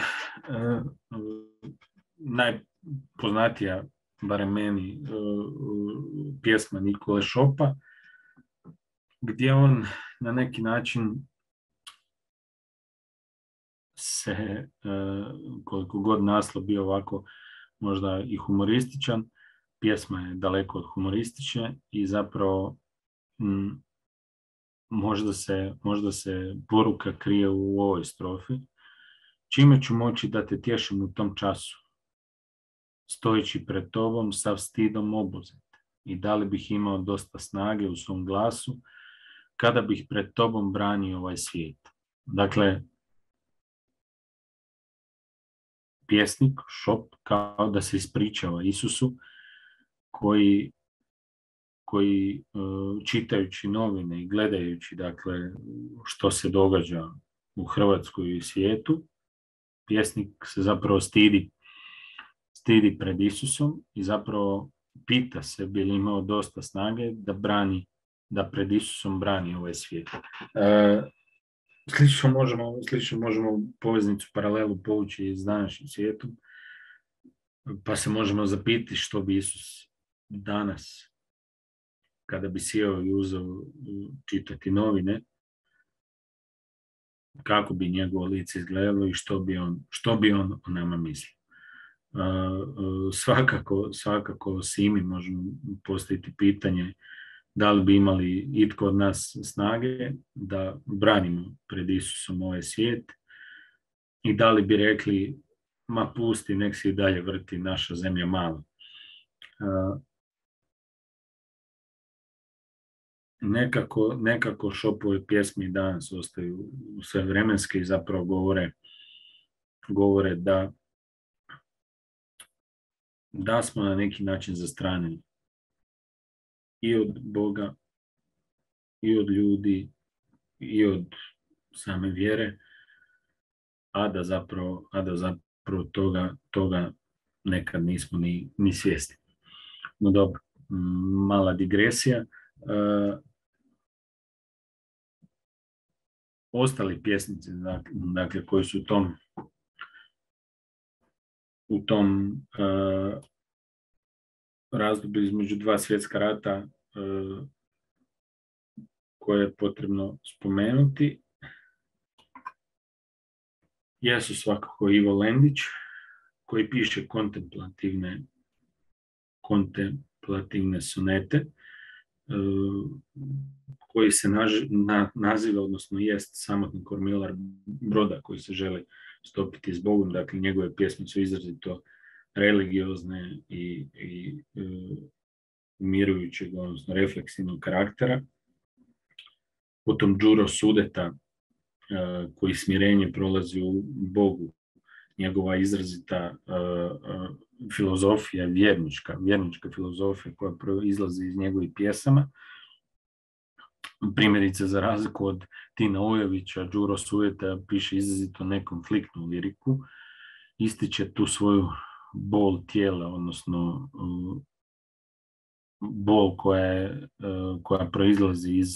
S1: najpoznatija, barem meni, e, pjesma Nikole Šopa, gdje on na neki način se, koliko god naslov bio ovako možda i humorističan, pjesma je daleko od humoristične i zapravo m, možda, se, možda se poruka krije u ovoj strofi. Čime ću moći da te tješim u tom času, stojeći pred tobom sav stidom obuzet, i da li bih imao dosta snage u svom glasu, kada bih pred tobom branio ovaj svijet. Dakle, pjesnik Šop kao da se ispričava Isusu koji, koji čitajući novine i gledajući, dakle, što se događa u Hrvatskoj i svijetu, pjesnik se zapravo stidi, stidi pred Isusom i zapravo pita se bi li imao dosta snage da brani, da pred Isusom brani ovaj svijet. E, Slično možemo, slično možemo poveznicu, paralelu povući iz današnjim svijetom, pa se možemo zapitati što bi Isus danas, kada bi sjeo i uzeo čitati novine, kako bi njegovo lice izgledalo i što bi on, što bi on o nama mislio. Svakako, svakako si mi možemo postaviti pitanje da li bi imali itko od nas snage da branimo pred Isusom ovaj svijet i da li bi rekli, ma pusti, nek se i dalje vrti naša zemlja mala. Nekako, nekako Šopove pjesme danas ostaju sve vremenske i zapravo govore, govore da, da smo na neki način zastranjeni i od Boga, i od ljudi, i od same vjere, a da zapravo, a da zapravo toga, toga nekad nismo ni, ni svjesni. No dobro, mala digresija. E, ostali pjesnici, dakle, koji su u tom u tom e, razdoblju između dva svjetska rata e, koje je potrebno spomenuti, jesu svakako Ivo Lendić, koji piše kontemplativne, kontemplativne sonete, koji se naž, na, naziva, odnosno jest samotni kormilar broda koji se želi stopiti s Bogom. Dakle, njegove pjesme su izrazito religiozne i, i e, umirujućeg, odnosno refleksivnog karaktera. Potom Đuro Sudeta, e, koji smirenje prolazi u Bogu, njegova izrazita uh, uh, filozofija, vjernička, vjernička filozofija koja izlazi iz njegovih pjesama. Primjerice, za razliku od Tina Ujovića, Đuro Sudeta piše izrazito nekonfliktnu liriku, ističe tu svoju bol tijela, odnosno uh, bol koja, je, uh, koja proizlazi iz,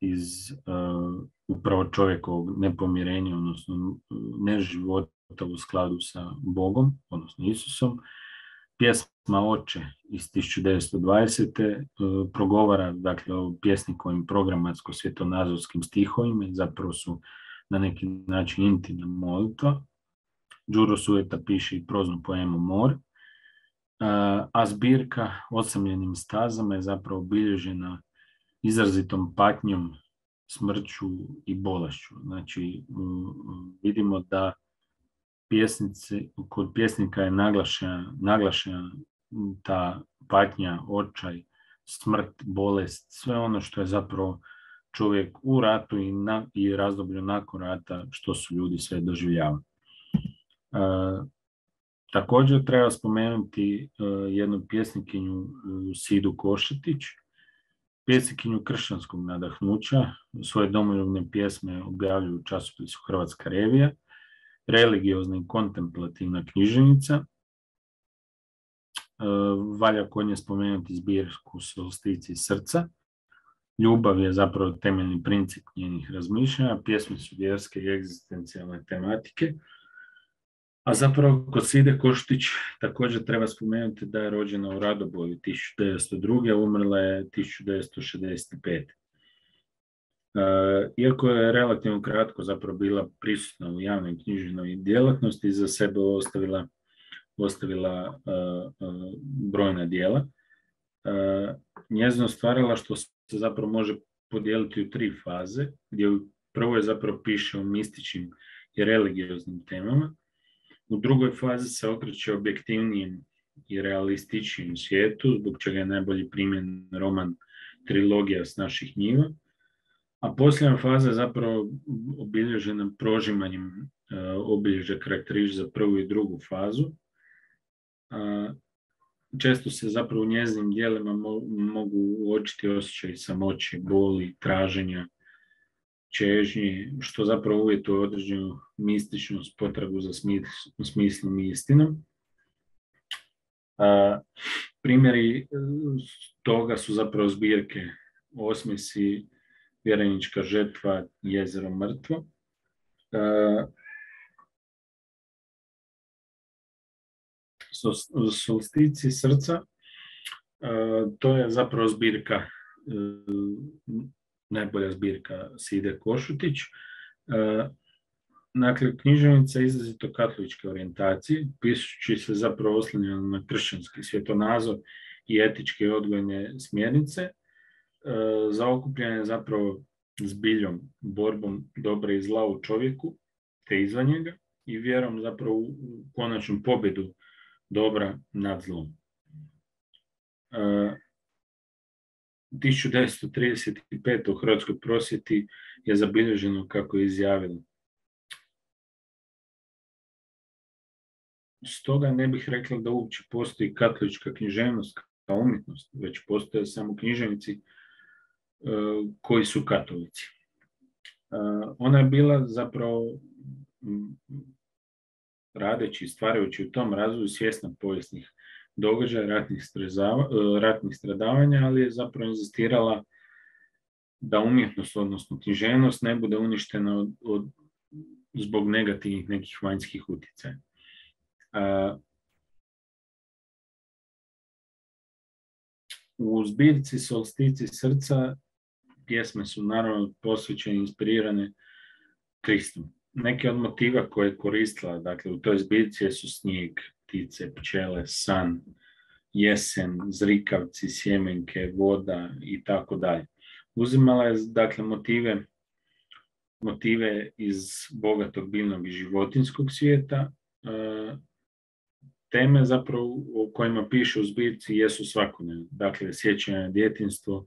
S1: iz uh, upravo čovjekovog nepomirenja, odnosno neživota u skladu sa Bogom, odnosno Isusom. Pjesma Oče iz tisuću devetsto dvadesete. progovara, dakle, o pjesnikovim programatsko-svjetonazorskim stihovima, zapravo su na neki način intimna molitva. Đuro Sudeta piše i proznu poemu Mor, a zbirka Osamljenim stazama je zapravo obilježena izrazitom patnjom, smrću i bolešću. Znači, vidimo da pjesnici, kod pjesnika je naglašena, naglašena ta patnja, očaj, smrt, bolest, sve ono što je zapravo čovjek u ratu i, na, i razdoblju nakon rata, što su ljudi sve doživljavali. E, također treba spomenuti e, jednu pjesnikinju, e, Sidu Košetić, pjesnikinju kršćanskog nadahnuća. Svoje domoljubne pjesme objavljuju u časopisu Hrvatska revija, religiozna i kontemplativna književnica. E, valja kod nje spomenuti zbirku Solstici srca. Ljubav je zapravo temeljni princip njenih razmišljanja, pjesme su vjerske i egzistencijalne tematike. A zapravo kod Side Košutić također treba spomenuti da je rođena u Radoboju tisuću devetsto druge. umrla je tisuću devetsto šezdeset pete. Iako je relativno kratko zapravo bila prisutna u javnoj književnoj djelatnosti, za sebe ostavila, ostavila uh, uh, brojna djela. Uh, njezino stvaralaštvo se zapravo može podijeliti u tri faze, gdje prvo je zapravo piše o mističnim i religioznim temama, u drugoj fazi se okreće objektivnijem i realističnijem svijetu, zbog čega je najbolji primjer roman Trilogija s naših njiva, a posljednja faza je zapravo obilježena prožimanjem uh, obilježja karakterističnih za prvu i drugu fazu. Uh, često se zapravo u njezinim djelima mo- mogu uočiti osjećaj samoće, boli, traženja, čežnje, što zapravo uvjetuje određenu mističnost, potragu za smisl- smislom i istinom. Uh, primjeri toga su zapravo zbirke Osmisi, Vjerenička žetva, Jezero mrtvo. Uh, Solstici srca, uh, to je zapravo zbirka, uh, najbolja zbirka Side Košutić. Uh, dakle, književnica je izrazito katoličke orijentacije, pišući se zapravo oslanjeno na kršćanski svjetonazor i etičke odgojne smjernice. Zaokupljen je zapravo zbiljom, borbom dobra i zla u čovjeku, te izvan njega, i vjerom zapravo u konačnu pobjedu dobra nad zlom. tisuću devetsto trideset pete. u Hrvatskoj prosvjeti je zabilježeno kako je izjavila: stoga ne bih rekla da uopće postoji katolička književnost kao umjetnost, već postoje samo književnici koji su katolici. Ona je bila zapravo radeći i stvarajući u tom razvoju svjesna povijesnih događaja, ratnih, strezava, ratnih stradavanja, ali je zapravo inzistirala da umjetnost, odnosno književnost, ne bude uništena od, od, zbog negativnih nekih vanjskih utjecaja. A, u zbirci Solstici srca pjesme su naravno posvećene i inspirirane Kristom. Neke od motiva koje je koristila, dakle, u toj zbirci su snijeg, ptice, pčele, san, jesen, zrikavci, sjemenke, voda i tako dalje. Uzimala je, dakle, motive, motive iz bogatog biljnog i životinskog svijeta. Teme zapravo o kojima piše u zbirci jesu svakodnevne. Dakle, sjećanje na djetinjstvo,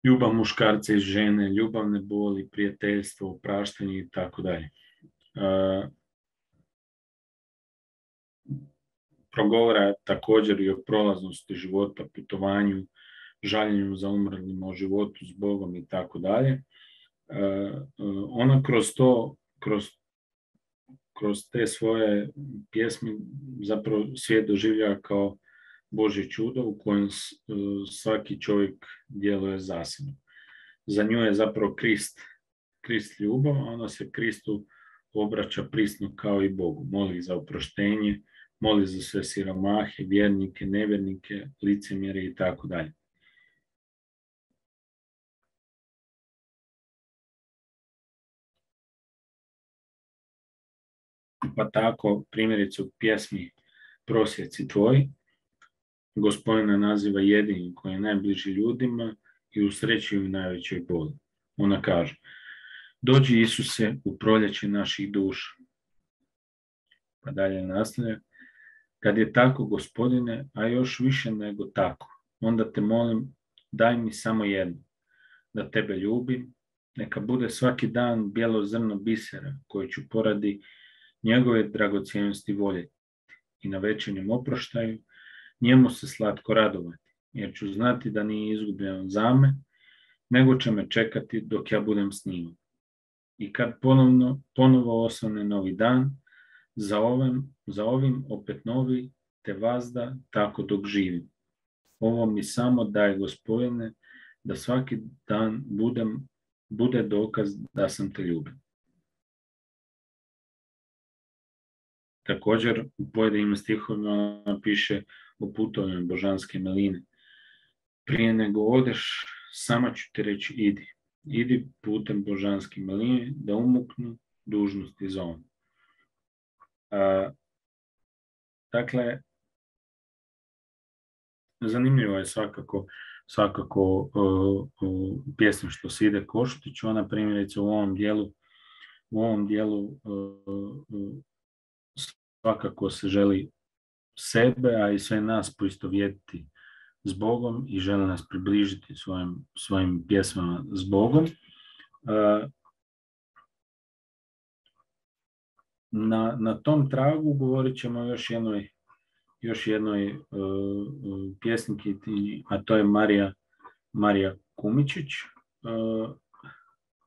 S1: ljubav muškarca i žene, ljubavne boli, prijateljstvo, opraštanje i tako dalje. Progovara također i o prolaznosti života, putovanju, žaljenju za umrlim, o životu s Bogom i tako dalje. Ona kroz to, kroz, kroz te svoje pjesme zapravo svijet doživljava kao Božje čudo u kojem svaki čovjek djeluje zasebno. Za nju je zapravo Krist, Krist ljubav, a ona se Kristu obraća prisno kao i Bogu. Moli za oproštenje, moli za sve siromahe, vjernike, nevjernike, licemjere i tako dalje. Pa tako, primjerice u pjesmi Prosjeci tvoji, Gospodina naziva jedinim koji je najbliži ljudima i usrećuju u najvećoj boli. Ona kaže: dođi Isuse u proljeće naših duša. Pa dalje nastavlja: kad je tako, Gospodine, a još više nego tako, onda te molim, daj mi samo jedno, da tebe ljubim, neka bude svaki dan bijelo zrno bisera koje ću poradi njegove dragocjenosti voljeti i na večernjem oproštaju njemu se slatko radovati, jer ću znati da nije izgubljen za me, nego će me čekati dok ja budem s njim. I kad ponovno, ponovo osvane novi dan, za ovim, za ovim opet novi, te vazda tako dok živim. Ovo mi samo daje, Gospodine, da svaki dan budem, bude dokaz da sam te ljubio. Također u pojedinim stihovima ona piše o putovanju božanske miline. Prije nego odeš, sama ću ti reći idi. Idi putem božanske miline da umuknu dužnosti za on. A, dakle, zanimljivo je svakako, svakako uh, uh, pjesma Što se ide Košutiću. Ona primjerice u ovom dijelu, u ovom dijelu uh, uh, svakako se želi sebe, a i sve nas poistovjetiti s Bogom i želi nas približiti svojim, svojim pjesmama s Bogom. Na, na tom tragu govorit ćemo još jednoj, još jednoj uh, pjesniki, a to je Marija, Marija Kumičić. Uh,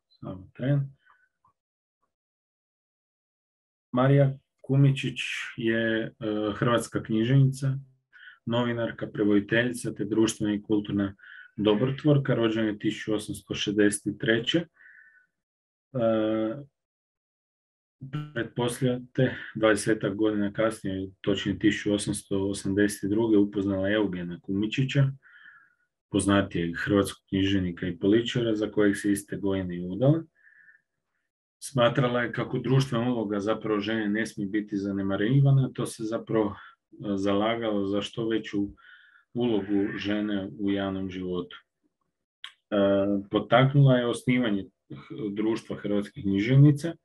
S1: samo tren. Marija Kumičić je uh, hrvatska književnica, novinarka, prevoditeljica te društvena i kulturna dobrotvorka, rođena je tisuću osamsto šezdeset treće. Uh, Pretpostavljate, dvadesetak godina kasnije, točnije tisuću osamsto osamdeset druge upoznala Eugena Kumičića, poznatijeg hrvatskog književnika i političara, za kojeg se iste godine i udala. Smatrala je kako društvena uloga zapravo žene ne smije biti zanemarivana, to se zapravo zalagalo za što veću ulogu žene u javnom životu. Potaknula je osnivanje društva hrvatskih književnica,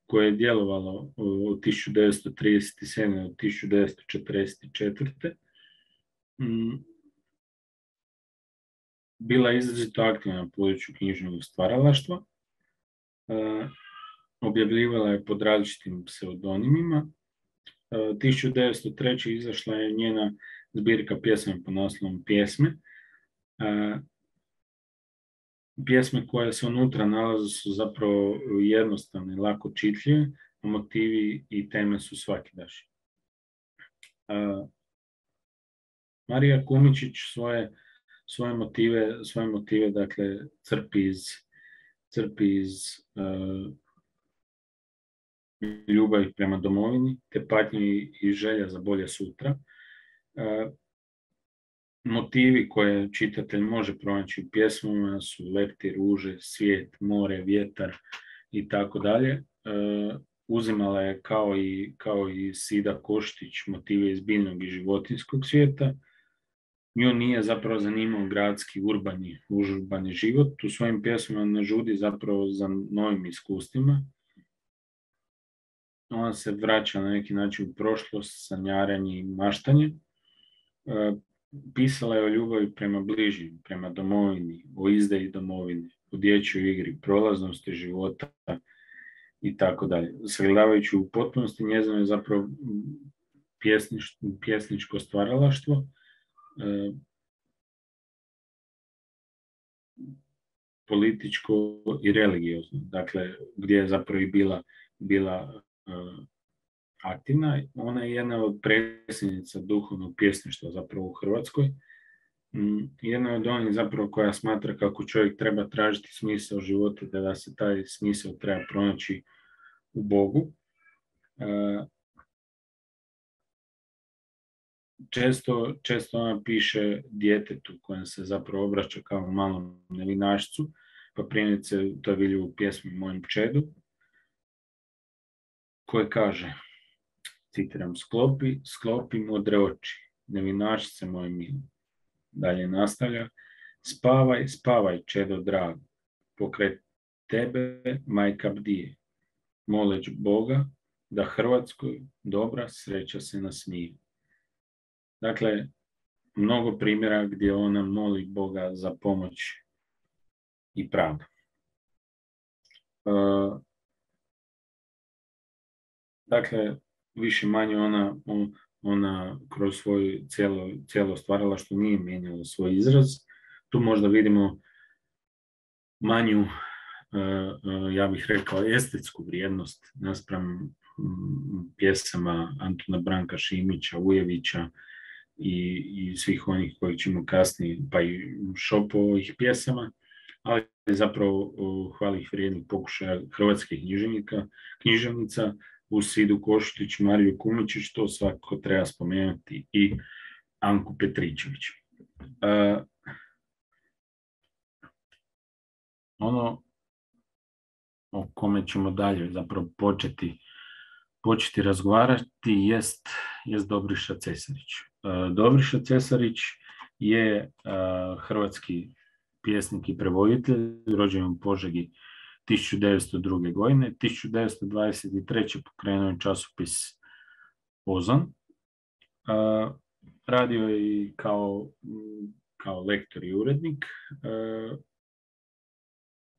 S1: koje je djelovalo od tisuću devetsto trideset sedme do tisuću devetsto četrdeset četvrte. Bila je izrazito aktivna na području književnog stvaralaštva. Objavljivala je pod različitim pseudonimima. tisuću devetsto treće. izašla je njena zbirka pjesme pod naslovom Pjesme. Pjesme koje se unutra nalaze su zapravo jednostavne, lako čitljive, motivi i teme su svakidašnje. Marija Kumičić svoje, svoje motive, svoje motive dakle, crpi iz, crpi iz uh, ljubavi prema domovini, te patnje i želja za bolje sutra. Uh, motivi koje čitatelj može pronaći u pjesmama su leptir, ruže, svijet, more, vjetar i tako dalje. Uzimala je kao i, kao i Sida Koštić motive iz biljnog i životinjskog svijeta. Nju nije zapravo zanimao gradski, urbani, užurbani život. U svojim pjesmama ne žudi zapravo za novim iskustvima. Ona se vraća na neki način u prošlost, sanjaranje i maštanje. Pisala je o ljubavi prema bližnjim, prema domovini, o izdaji domovine, o dječjoj igri, prolaznosti života i tako dalje. Sagledavajući u potpunosti njezino je zapravo pjesnič, pjesničko stvaralaštvo, e, političko i religiozno, dakle gdje je zapravo i bila, bila e, aktivna. Ona je jedna od predsjednica duhovnog pjesništva zapravo u Hrvatskoj. Jedna od onih zapravo koja smatra kako čovjek treba tražiti smisao života, da se taj smisao treba pronaći u Bogu. Često, često ona piše djetetu kojem se zapravo obraća kao malom nevinašcu, pa primjerice to je vidljivo u pjesmi Mojem čedu, koje kaže, citiram, sklopi, sklopi modre oči, nevinašce moje milo. Dalje nastavlja, spavaj, spavaj, čedo drago, pokraj tebe majka bdije, moleć Boga da Hrvatskoj dobra sreća se nasmije. Dakle, mnogo primjera gdje ona moli Boga za pomoć i pravdu. Uh, dakle, više manje ona, ona kroz svoje cijelo, cijelo stvaralaštvo nije mijenjala svoj izraz. Tu možda vidimo manju, uh, uh, ja bih rekao, estetsku vrijednost naspram um, pjesama Antuna Branka Šimića, Ujevića i, i svih onih koji ćemo kasnije, pa i Šopovih pjesama, ali zapravo uh, hvalih vrijednih pokušaja hrvatskih književnika, književnica, u Sidu Koštić, Mariju Kumičić, to svakako treba spomenuti, i Anku Petričević. Uh, ono o kome ćemo dalje zapravo početi, početi razgovarati jest, jest Dobriša Cesarić. Uh, Dobriša Cesarić je uh, hrvatski pjesnik i prevoditelj, rođen u Požegi tisuću devetsto druge. godine. tisuću devetsto dvadeset treće. pokrenuo je časopis Ozon. Uh, radio je i kao, kao lektor i urednik. Uh,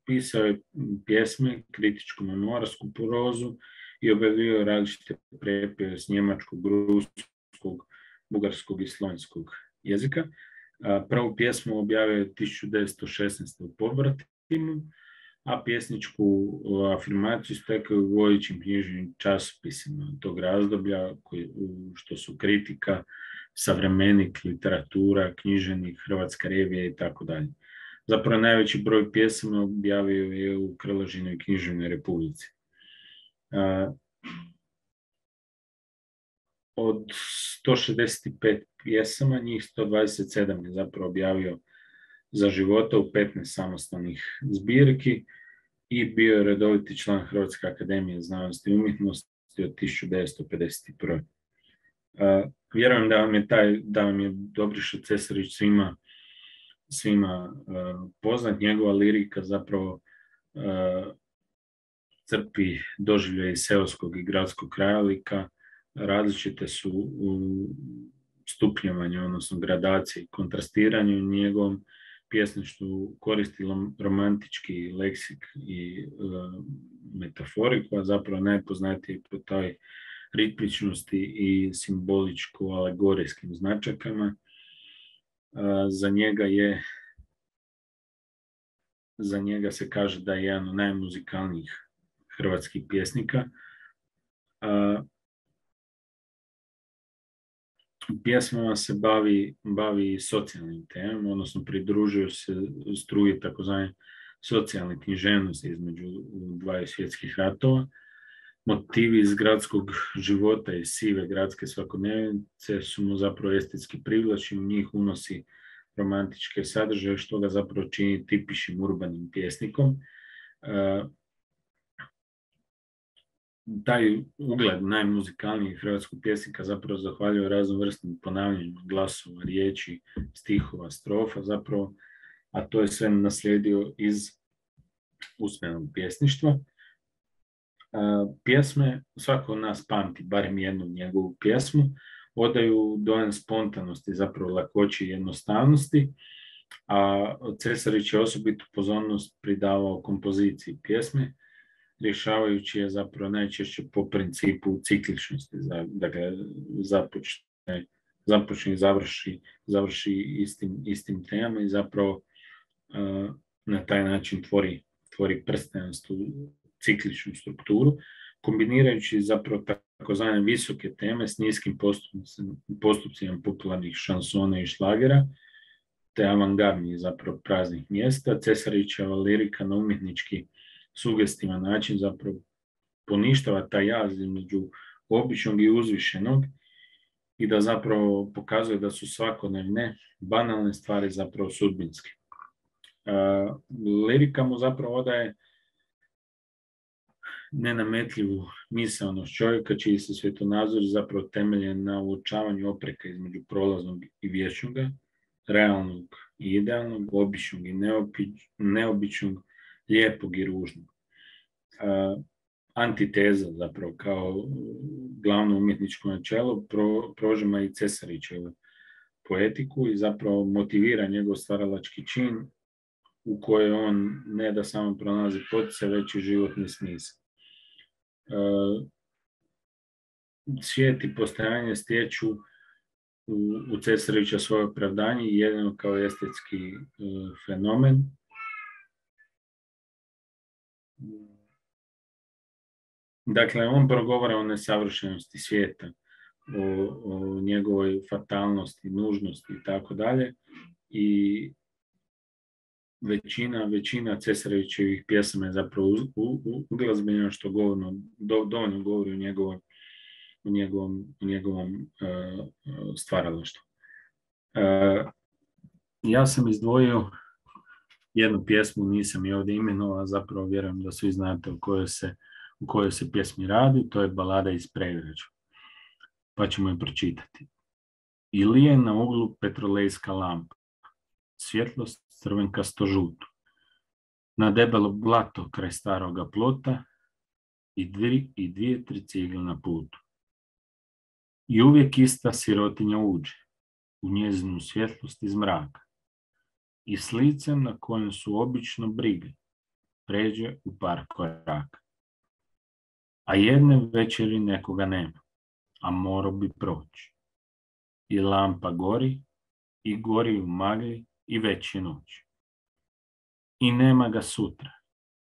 S1: pisao je pjesme, kritičku memoarsku prozu i objavljivao različite prepjeve s njemačkog, ruskog, bugarskog i slovenskog jezika. Uh, prvu pjesmu objavio je tisuću devetsto šesnaeste. u Povratimu, a pjesničku afirmaciju stekao u vodećim književnim časopisima tog razdoblja, koji, što su Kritika, Savremenik, Literatura, Književnik, Hrvatska revija i tako dalje. Zapravo najveći broj pjesama objavio je u Krležinoj književnoj republici. Uh, od sto šezdeset pet pjesama, njih sto dvadeset sedam je zapravo objavio za života u petnaest samostalnih zbirki i bio je redoviti član Hrvatske akademije znanosti i umjetnosti od tisuću devetsto pedeset prve. Uh, vjerujem da vam je taj, da vam je Dobriša Cesarić svima, svima uh, poznat. Njegova lirika zapravo uh, crpi doživljaje iz seoskog i gradskog krajolika. Različite su u stupnjevanju, odnosno gradaciji, kontrastiranju njegovom pjesništvu koristi romantički leksik i uh, metaforiku, a zapravo najpoznatiji po toj ritmičnosti i simboličko-alegorijskim značajkama. Uh, za njega je za njega se kaže da je jedan od najmuzikalnijih hrvatskih pjesnika. A, pjesmama se bavi, bavi socijalnim temama, odnosno pridružuju se struji takozvane socijalne književnosti između dvaju svjetskih ratova. Motivi iz gradskog života i sive gradske svakodnevnice su mu zapravo estetski privlačni, u njih unosi romantičke sadržaje, što ga zapravo čini tipičnim urbanim pjesnikom. Taj ugled najmuzikalnijih hrvatskog pjesnika zapravo zahvaljuje raznom vrstnim ponavljanjima glasova, riječi, stihova, strofa zapravo, a to je sve naslijedio iz usmenog pjesništva. Pjesme, svako od nas pamti barem jednu njegovu pjesmu, odaju dojam spontanosti, zapravo lakoći i jednostavnosti, a Cesarić je osobitu pozornost pridavao kompoziciji pjesme, rješavajući je zapravo najčešće po principu cikličnosti, dakle započne, započne i završi, završi istim, istim temama i zapravo uh, na taj način tvori, tvori prstenastu cikličnu strukturu, kombinirajući zapravo takozvane visoke teme s niskim postupcima, postupcima popularnih šansona i šlagera, te avangardnih zapravo praznih mjesta. Cesarićeva lirika na umjetnički sugestivan način zapravo poništava taj jaz između običnog i uzvišenog i da zapravo pokazuje da su svakodnevne banalne stvari zapravo sudbinske. Uh, lirika mu zapravo odaje nenametljivu misaonost čovjeka, čiji se svjetonazor zapravo temeljen na uočavanju opreka između prolaznog i vječnoga, realnog i idealnog, običnog i neobičnog, lijepog i ružnog. Uh, antiteza zapravo kao glavno umjetničko načelo pro, prožima i Cesarićevu poetiku i zapravo motivira njegov stvaralački čin u kojoj on ne da samo pronalazi poticaj, već i životni smisao. Uh, svijet i postojanje stječu u, u Cesarića svoje opravdanje i jedino kao estetski uh, fenomen. Dakle, on progovara o nesavršenosti svijeta, o, o njegovoj fatalnosti, nužnosti i tako dalje. I većina, većina Cesarićevih pjesama je zapravo uglazbena, što govorno, do, dovoljno govori o njegovom, o njegovom, o njegovom uh, stvaralaštvu. Uh, ja sam izdvojio jednu pjesmu, nisam je ovdje imenovao, zapravo vjerujem da svi znate o kojoj se, u kojoj se pjesmi radi, to je Balada iz Pregrađa. Pa ćemo je pročitati. Ili je na uglu petrolejska lampa, svjetlost crvenkasto žutu, na debelo blato kraj staroga plota i, dvi, i dvije, tri cigle na putu. I uvijek ista sirotinja uđe u njezinu svjetlost iz mraka i s licem na kojem su obično brige pređe u par koraka. A jedne večeri nekoga nema, a morao bi proći. I lampa gori i gori u magli i već je noć. I nema ga sutra,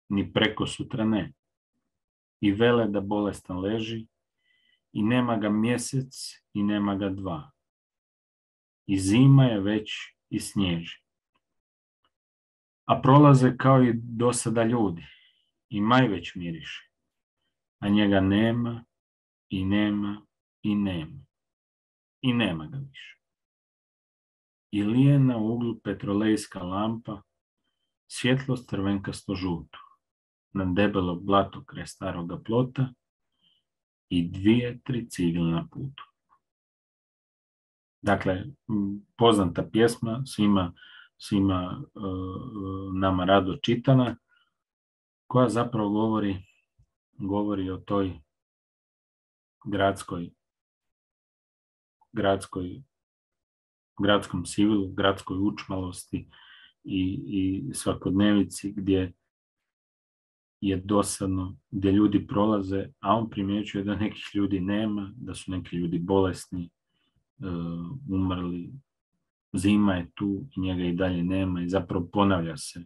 S1: ni preko sutra ne. I vele da bolestan leži, i nema ga mjesec, i nema ga dva. I zima je već i snježi. A prolaze kao i do sada ljudi, i maj već miriše. A njega nema, i nema, i nema. I nema ga više. Ili je na uglu petrolejska lampa, svjetlost crvenkasto žuto, na debelo blato kraj staroga plota i dvije, tri cigle na putu. Dakle, poznata pjesma, svima, svima uh, nama rado čitana, koja zapravo govori, govori o toj gradskoj, gradskoj gradskom sivilu, gradskoj učmalosti i, i svakodnevici gdje je dosadno, gdje ljudi prolaze, a on primjećuje da nekih ljudi nema, da su neki ljudi bolesni, uh, umrli, zima je tu i njega i dalje nema i zapravo ponavlja se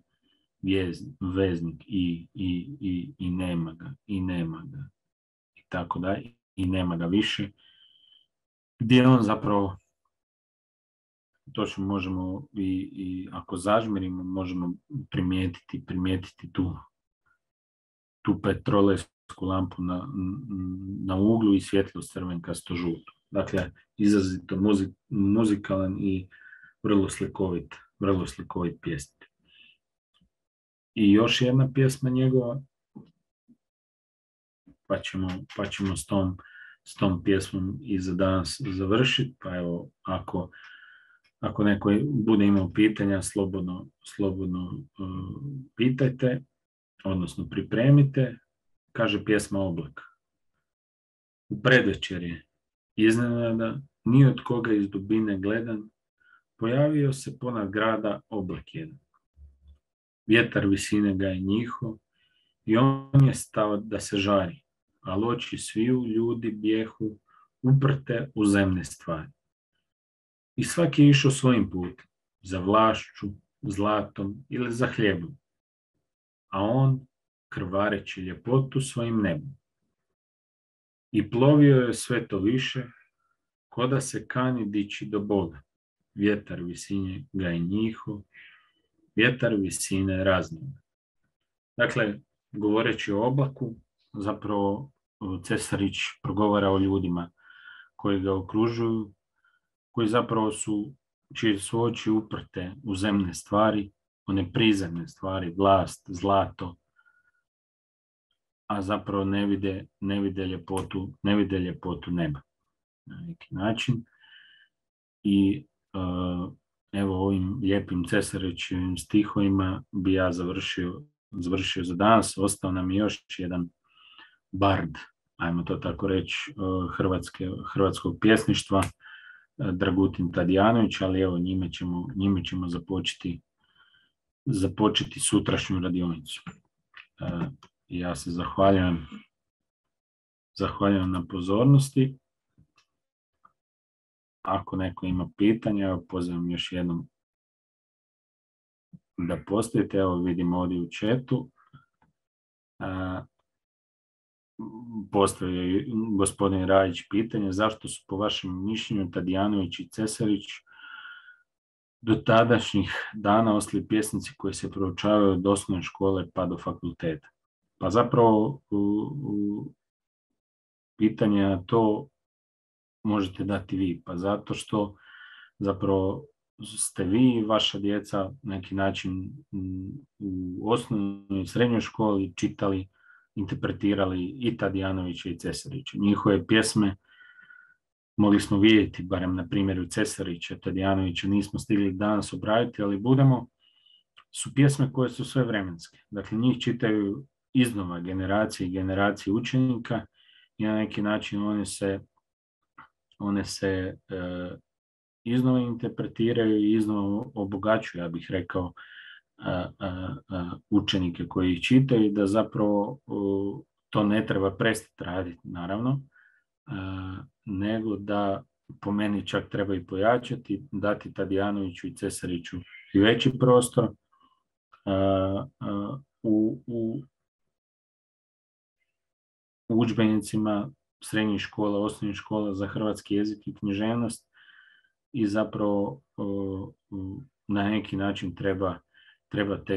S1: vjez, veznik i, i, i, i nema ga, i nema ga. tako dalje, i nema ga više, gdje on zapravo, točno možemo i, i ako zažmirimo, možemo primijetiti, primijetiti tu, tu petrolejsku lampu na, na uglu i svjetlost crvenkasto žuto. Dakle, izrazito muzik, muzikalan i vrlo slikovit, vrlo slikovit pjesnik. I još jedna pjesma njegova, pa ćemo, pa ćemo s, tom, s tom pjesmom i za danas završiti. Pa evo, ako, ako neko bude imao pitanja, slobodno, slobodno uh, pitajte, odnosno pripremite. Kaže pjesma Oblak. U predvečerje iznenada, ni od koga iz dubine gledan, pojavio se ponad grada oblak jedan. Vjetar visine ga je njiho i on je stao da se žari, ali oči sviju ljudi bjehu uprte u zemne stvari. I svaki je išao svojim putem, za vlašću, zlatom ili za hljebom, a on krvareći ljepotu svojim nebom. I plovio je sve to više, ko da se kani dići do Boga. Vjetar visine ga je njiho, vjetar visine raznima. Dakle, govoreći o oblaku, zapravo Cesarić progovara o ljudima koji ga okružuju, koji zapravo su, čije su oči uprte u zemne stvari, one prizemne stvari, vlast, zlato, a zapravo ne vide, ne vide ljepotu, ne vide ljepotu neba na neki način. I uh, evo ovim lijepim Cesarićevim stihovima bi ja završio, završio za danas. Ostao nam je još jedan bard, ajmo to tako reći, uh, hrvatske, hrvatskog pjesništva, uh, Dragutin Tadijanović, ali evo njime ćemo, njime ćemo započeti, započeti sutrašnju radionicu. Uh, ja se zahvaljujem, zahvaljujem na pozornosti. Ako neko ima pitanja, evo pozivam još jednom da postavite. Evo vidim ovdje u chatu. Uh, postavio je gospodin Rajić pitanje, zašto su po vašem mišljenju Tadijanović i Cesarić do tadašnjih dana ostali pjesnici koji se proučavaju od osnovne škole pa do fakulteta? Pa zapravo u, u pitanje na to možete dati vi, pa zato što zapravo ste vi i vaša djeca na neki način u osnovnoj i srednjoj školi čitali, interpretirali i Tadijanovića i Cesarića. Njihove pjesme mogli smo vidjeti, barem na primjeru Cesarića, Tadijanovića nismo stigli danas obraditi, ali budemo, su pjesme koje su sve vremenske. Dakle, njih čitaju iznova generacije i generacije učenika i na neki način one se one se e, iznova interpretiraju i iznova obogaćuju, ja bih rekao, a, a, a, učenike koji ih čitaju, da zapravo a, to ne treba prestati raditi, naravno, a, nego da po meni čak treba i pojačati, dati Tadijanoviću i Cesariću i veći prostor a, a, u, u, u udžbenicima srednjih škola, osnovnih škola za hrvatski jezik i književnost i zapravo o, o, na neki način treba, treba te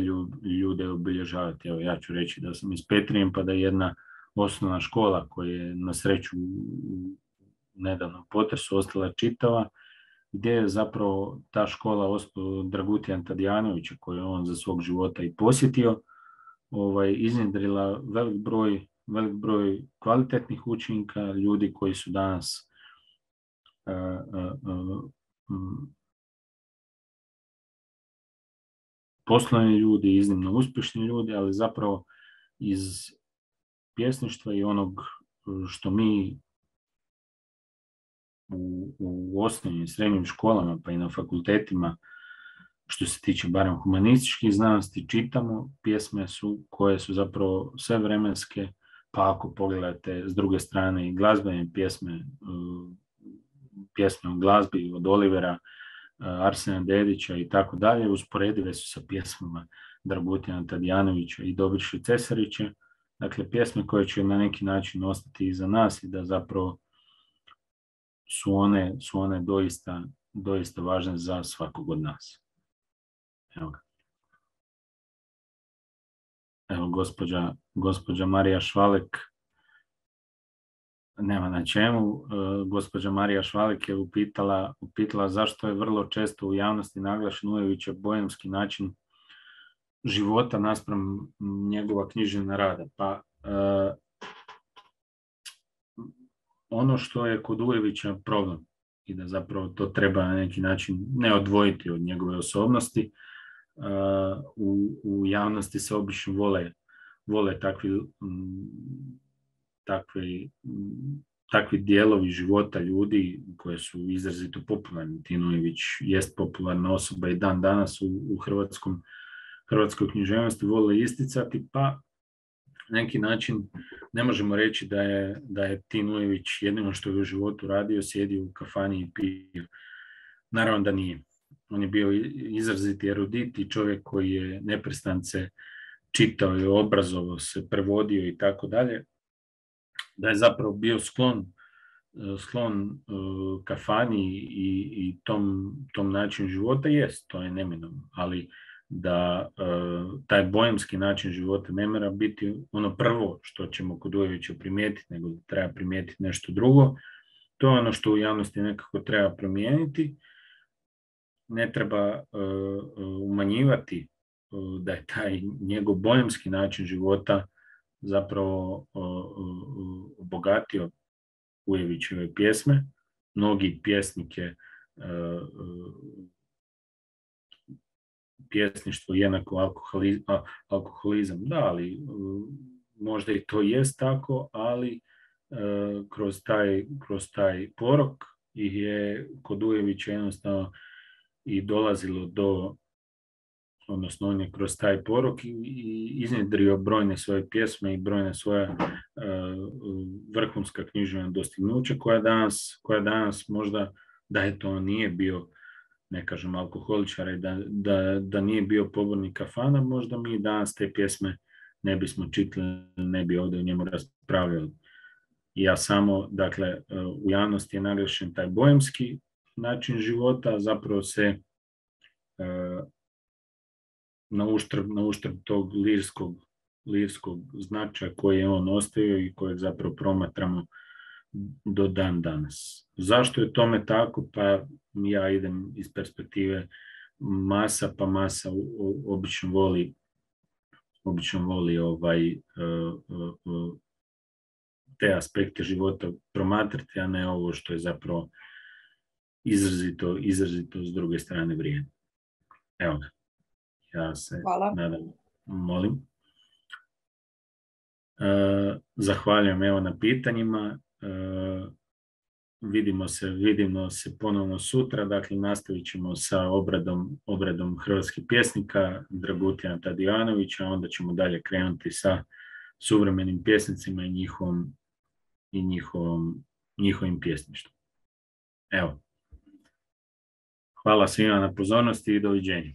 S1: ljude obilježavati. Evo, ja ću reći da sam iz Petrinje, pa da je jedna osnovna škola koja je na sreću u nedavnom potresu ostala čitava, gdje je zapravo ta škola Dragutina Tadijanovića, koju je on za svog života i posjetio, ovaj, iznjedrila velik broj velik broj kvalitetnih učenika, ljudi koji su danas uh, uh, uh, poslovni ljudi, iznimno uspješni ljudi, ali zapravo iz pjesništva i onog što mi u, u osnovnim i srednjim školama, pa i na fakultetima, što se tiče barem humanističkih znanosti, čitamo, pjesme su koje su zapravo sve vremenske. Pa ako pogledate s druge strane i glazbene pjesme, pjesme o glazbi od Olivera, Arsena Dedića i tako dalje, usporedive su sa pjesmama Dragutina Tadijanovića i Dobriše Cesarića, dakle, pjesme koje će na neki način ostati iza nas i da zapravo su one, su one doista, doista važne za svakog od nas. Evo ga. Evo, gospođa, gospođa Marija Švalek, nema na čemu, e, gospođa Marija Švalek je upitala, upitala zašto je vrlo često u javnosti naglašen Ujevićev bohemski način života naspram njegova književna rada. Pa e, ono što je kod Ujevića problem i da zapravo to treba na neki način ne odvojiti od njegove osobnosti, uh, u, u javnosti se obično vole, vole takvi, m, takvi, m, takvi dijelovi života ljudi koje su izrazito popularni. Tin Ujević jest popularna osoba i dan danas u, u hrvatskom, hrvatskoj književnosti vole isticati, pa na neki način ne možemo reći da je, da je Tin Ujević jedino što je u životu radio, sjedio u kafani i pio. Naravno da nije. On je bio izraziti erudit i čovjek koji je neprestance čitao i obrazovao se, prevodio i tako dalje. Da je zapravo bio sklon, sklon uh, kafani i, i tom, tom načinu života, jest, to je neminovno, ali da uh, taj bohemski način života ne mora biti ono prvo što ćemo kod Ujevića primijetiti, nego da treba primijetiti nešto drugo. To je ono što u javnosti nekako treba promijeniti. Ne treba uh, umanjivati uh, da je taj njegov bohemski način života zapravo uh, uh, obogatio Ujevićeve pjesme. Mnogi pjesnike uh, uh, pjesništvo jednako alkoholizam, alkoholizam, da, ali uh, možda i to jest tako, ali uh, kroz, taj, kroz taj porok ih je kod Ujevića jednostavno i dolazilo do, odnosno on je kroz taj porok i, i iznjedrio brojne svoje pjesme i brojne svoje uh, vrhunska književna dostignuća koja danas, koja danas možda, da je to nije bio, ne kažem alkoholičar i da, da, da nije bio pobornik kafana, možda mi danas te pjesme ne bismo čitali, ne bi ovdje o njemu raspravljali. Ja samo, dakle, u javnosti je naglašen taj bohemski način života, zapravo se uh, na uštrb, na uštrb tog lirskog, lirskog značaja koji je on ostavio i kojeg zapravo promatramo do dan danas. Zašto je tome tako? Pa ja idem iz perspektive masa, pa masa obično voli obično voli ovaj, uh, uh, te aspekte života promatrati, a ne ovo što je zapravo izrazito, izrazito s druge strane vrijeme. Evo ga. Ja se
S2: Hvala.
S1: nadam, molim. Uh, zahvaljujem evo na pitanjima. Uh, vidimo se, vidimo se ponovno sutra, dakle nastavit ćemo sa obradom, obradom hrvatskih pjesnika Dragutjana Tadijanovića, onda ćemo dalje krenuti sa suvremenim pjesnicima i njihovom, i njihovom, njihovim pjesništvom. Evo. Hvala svima na pozornosti i doviđenja.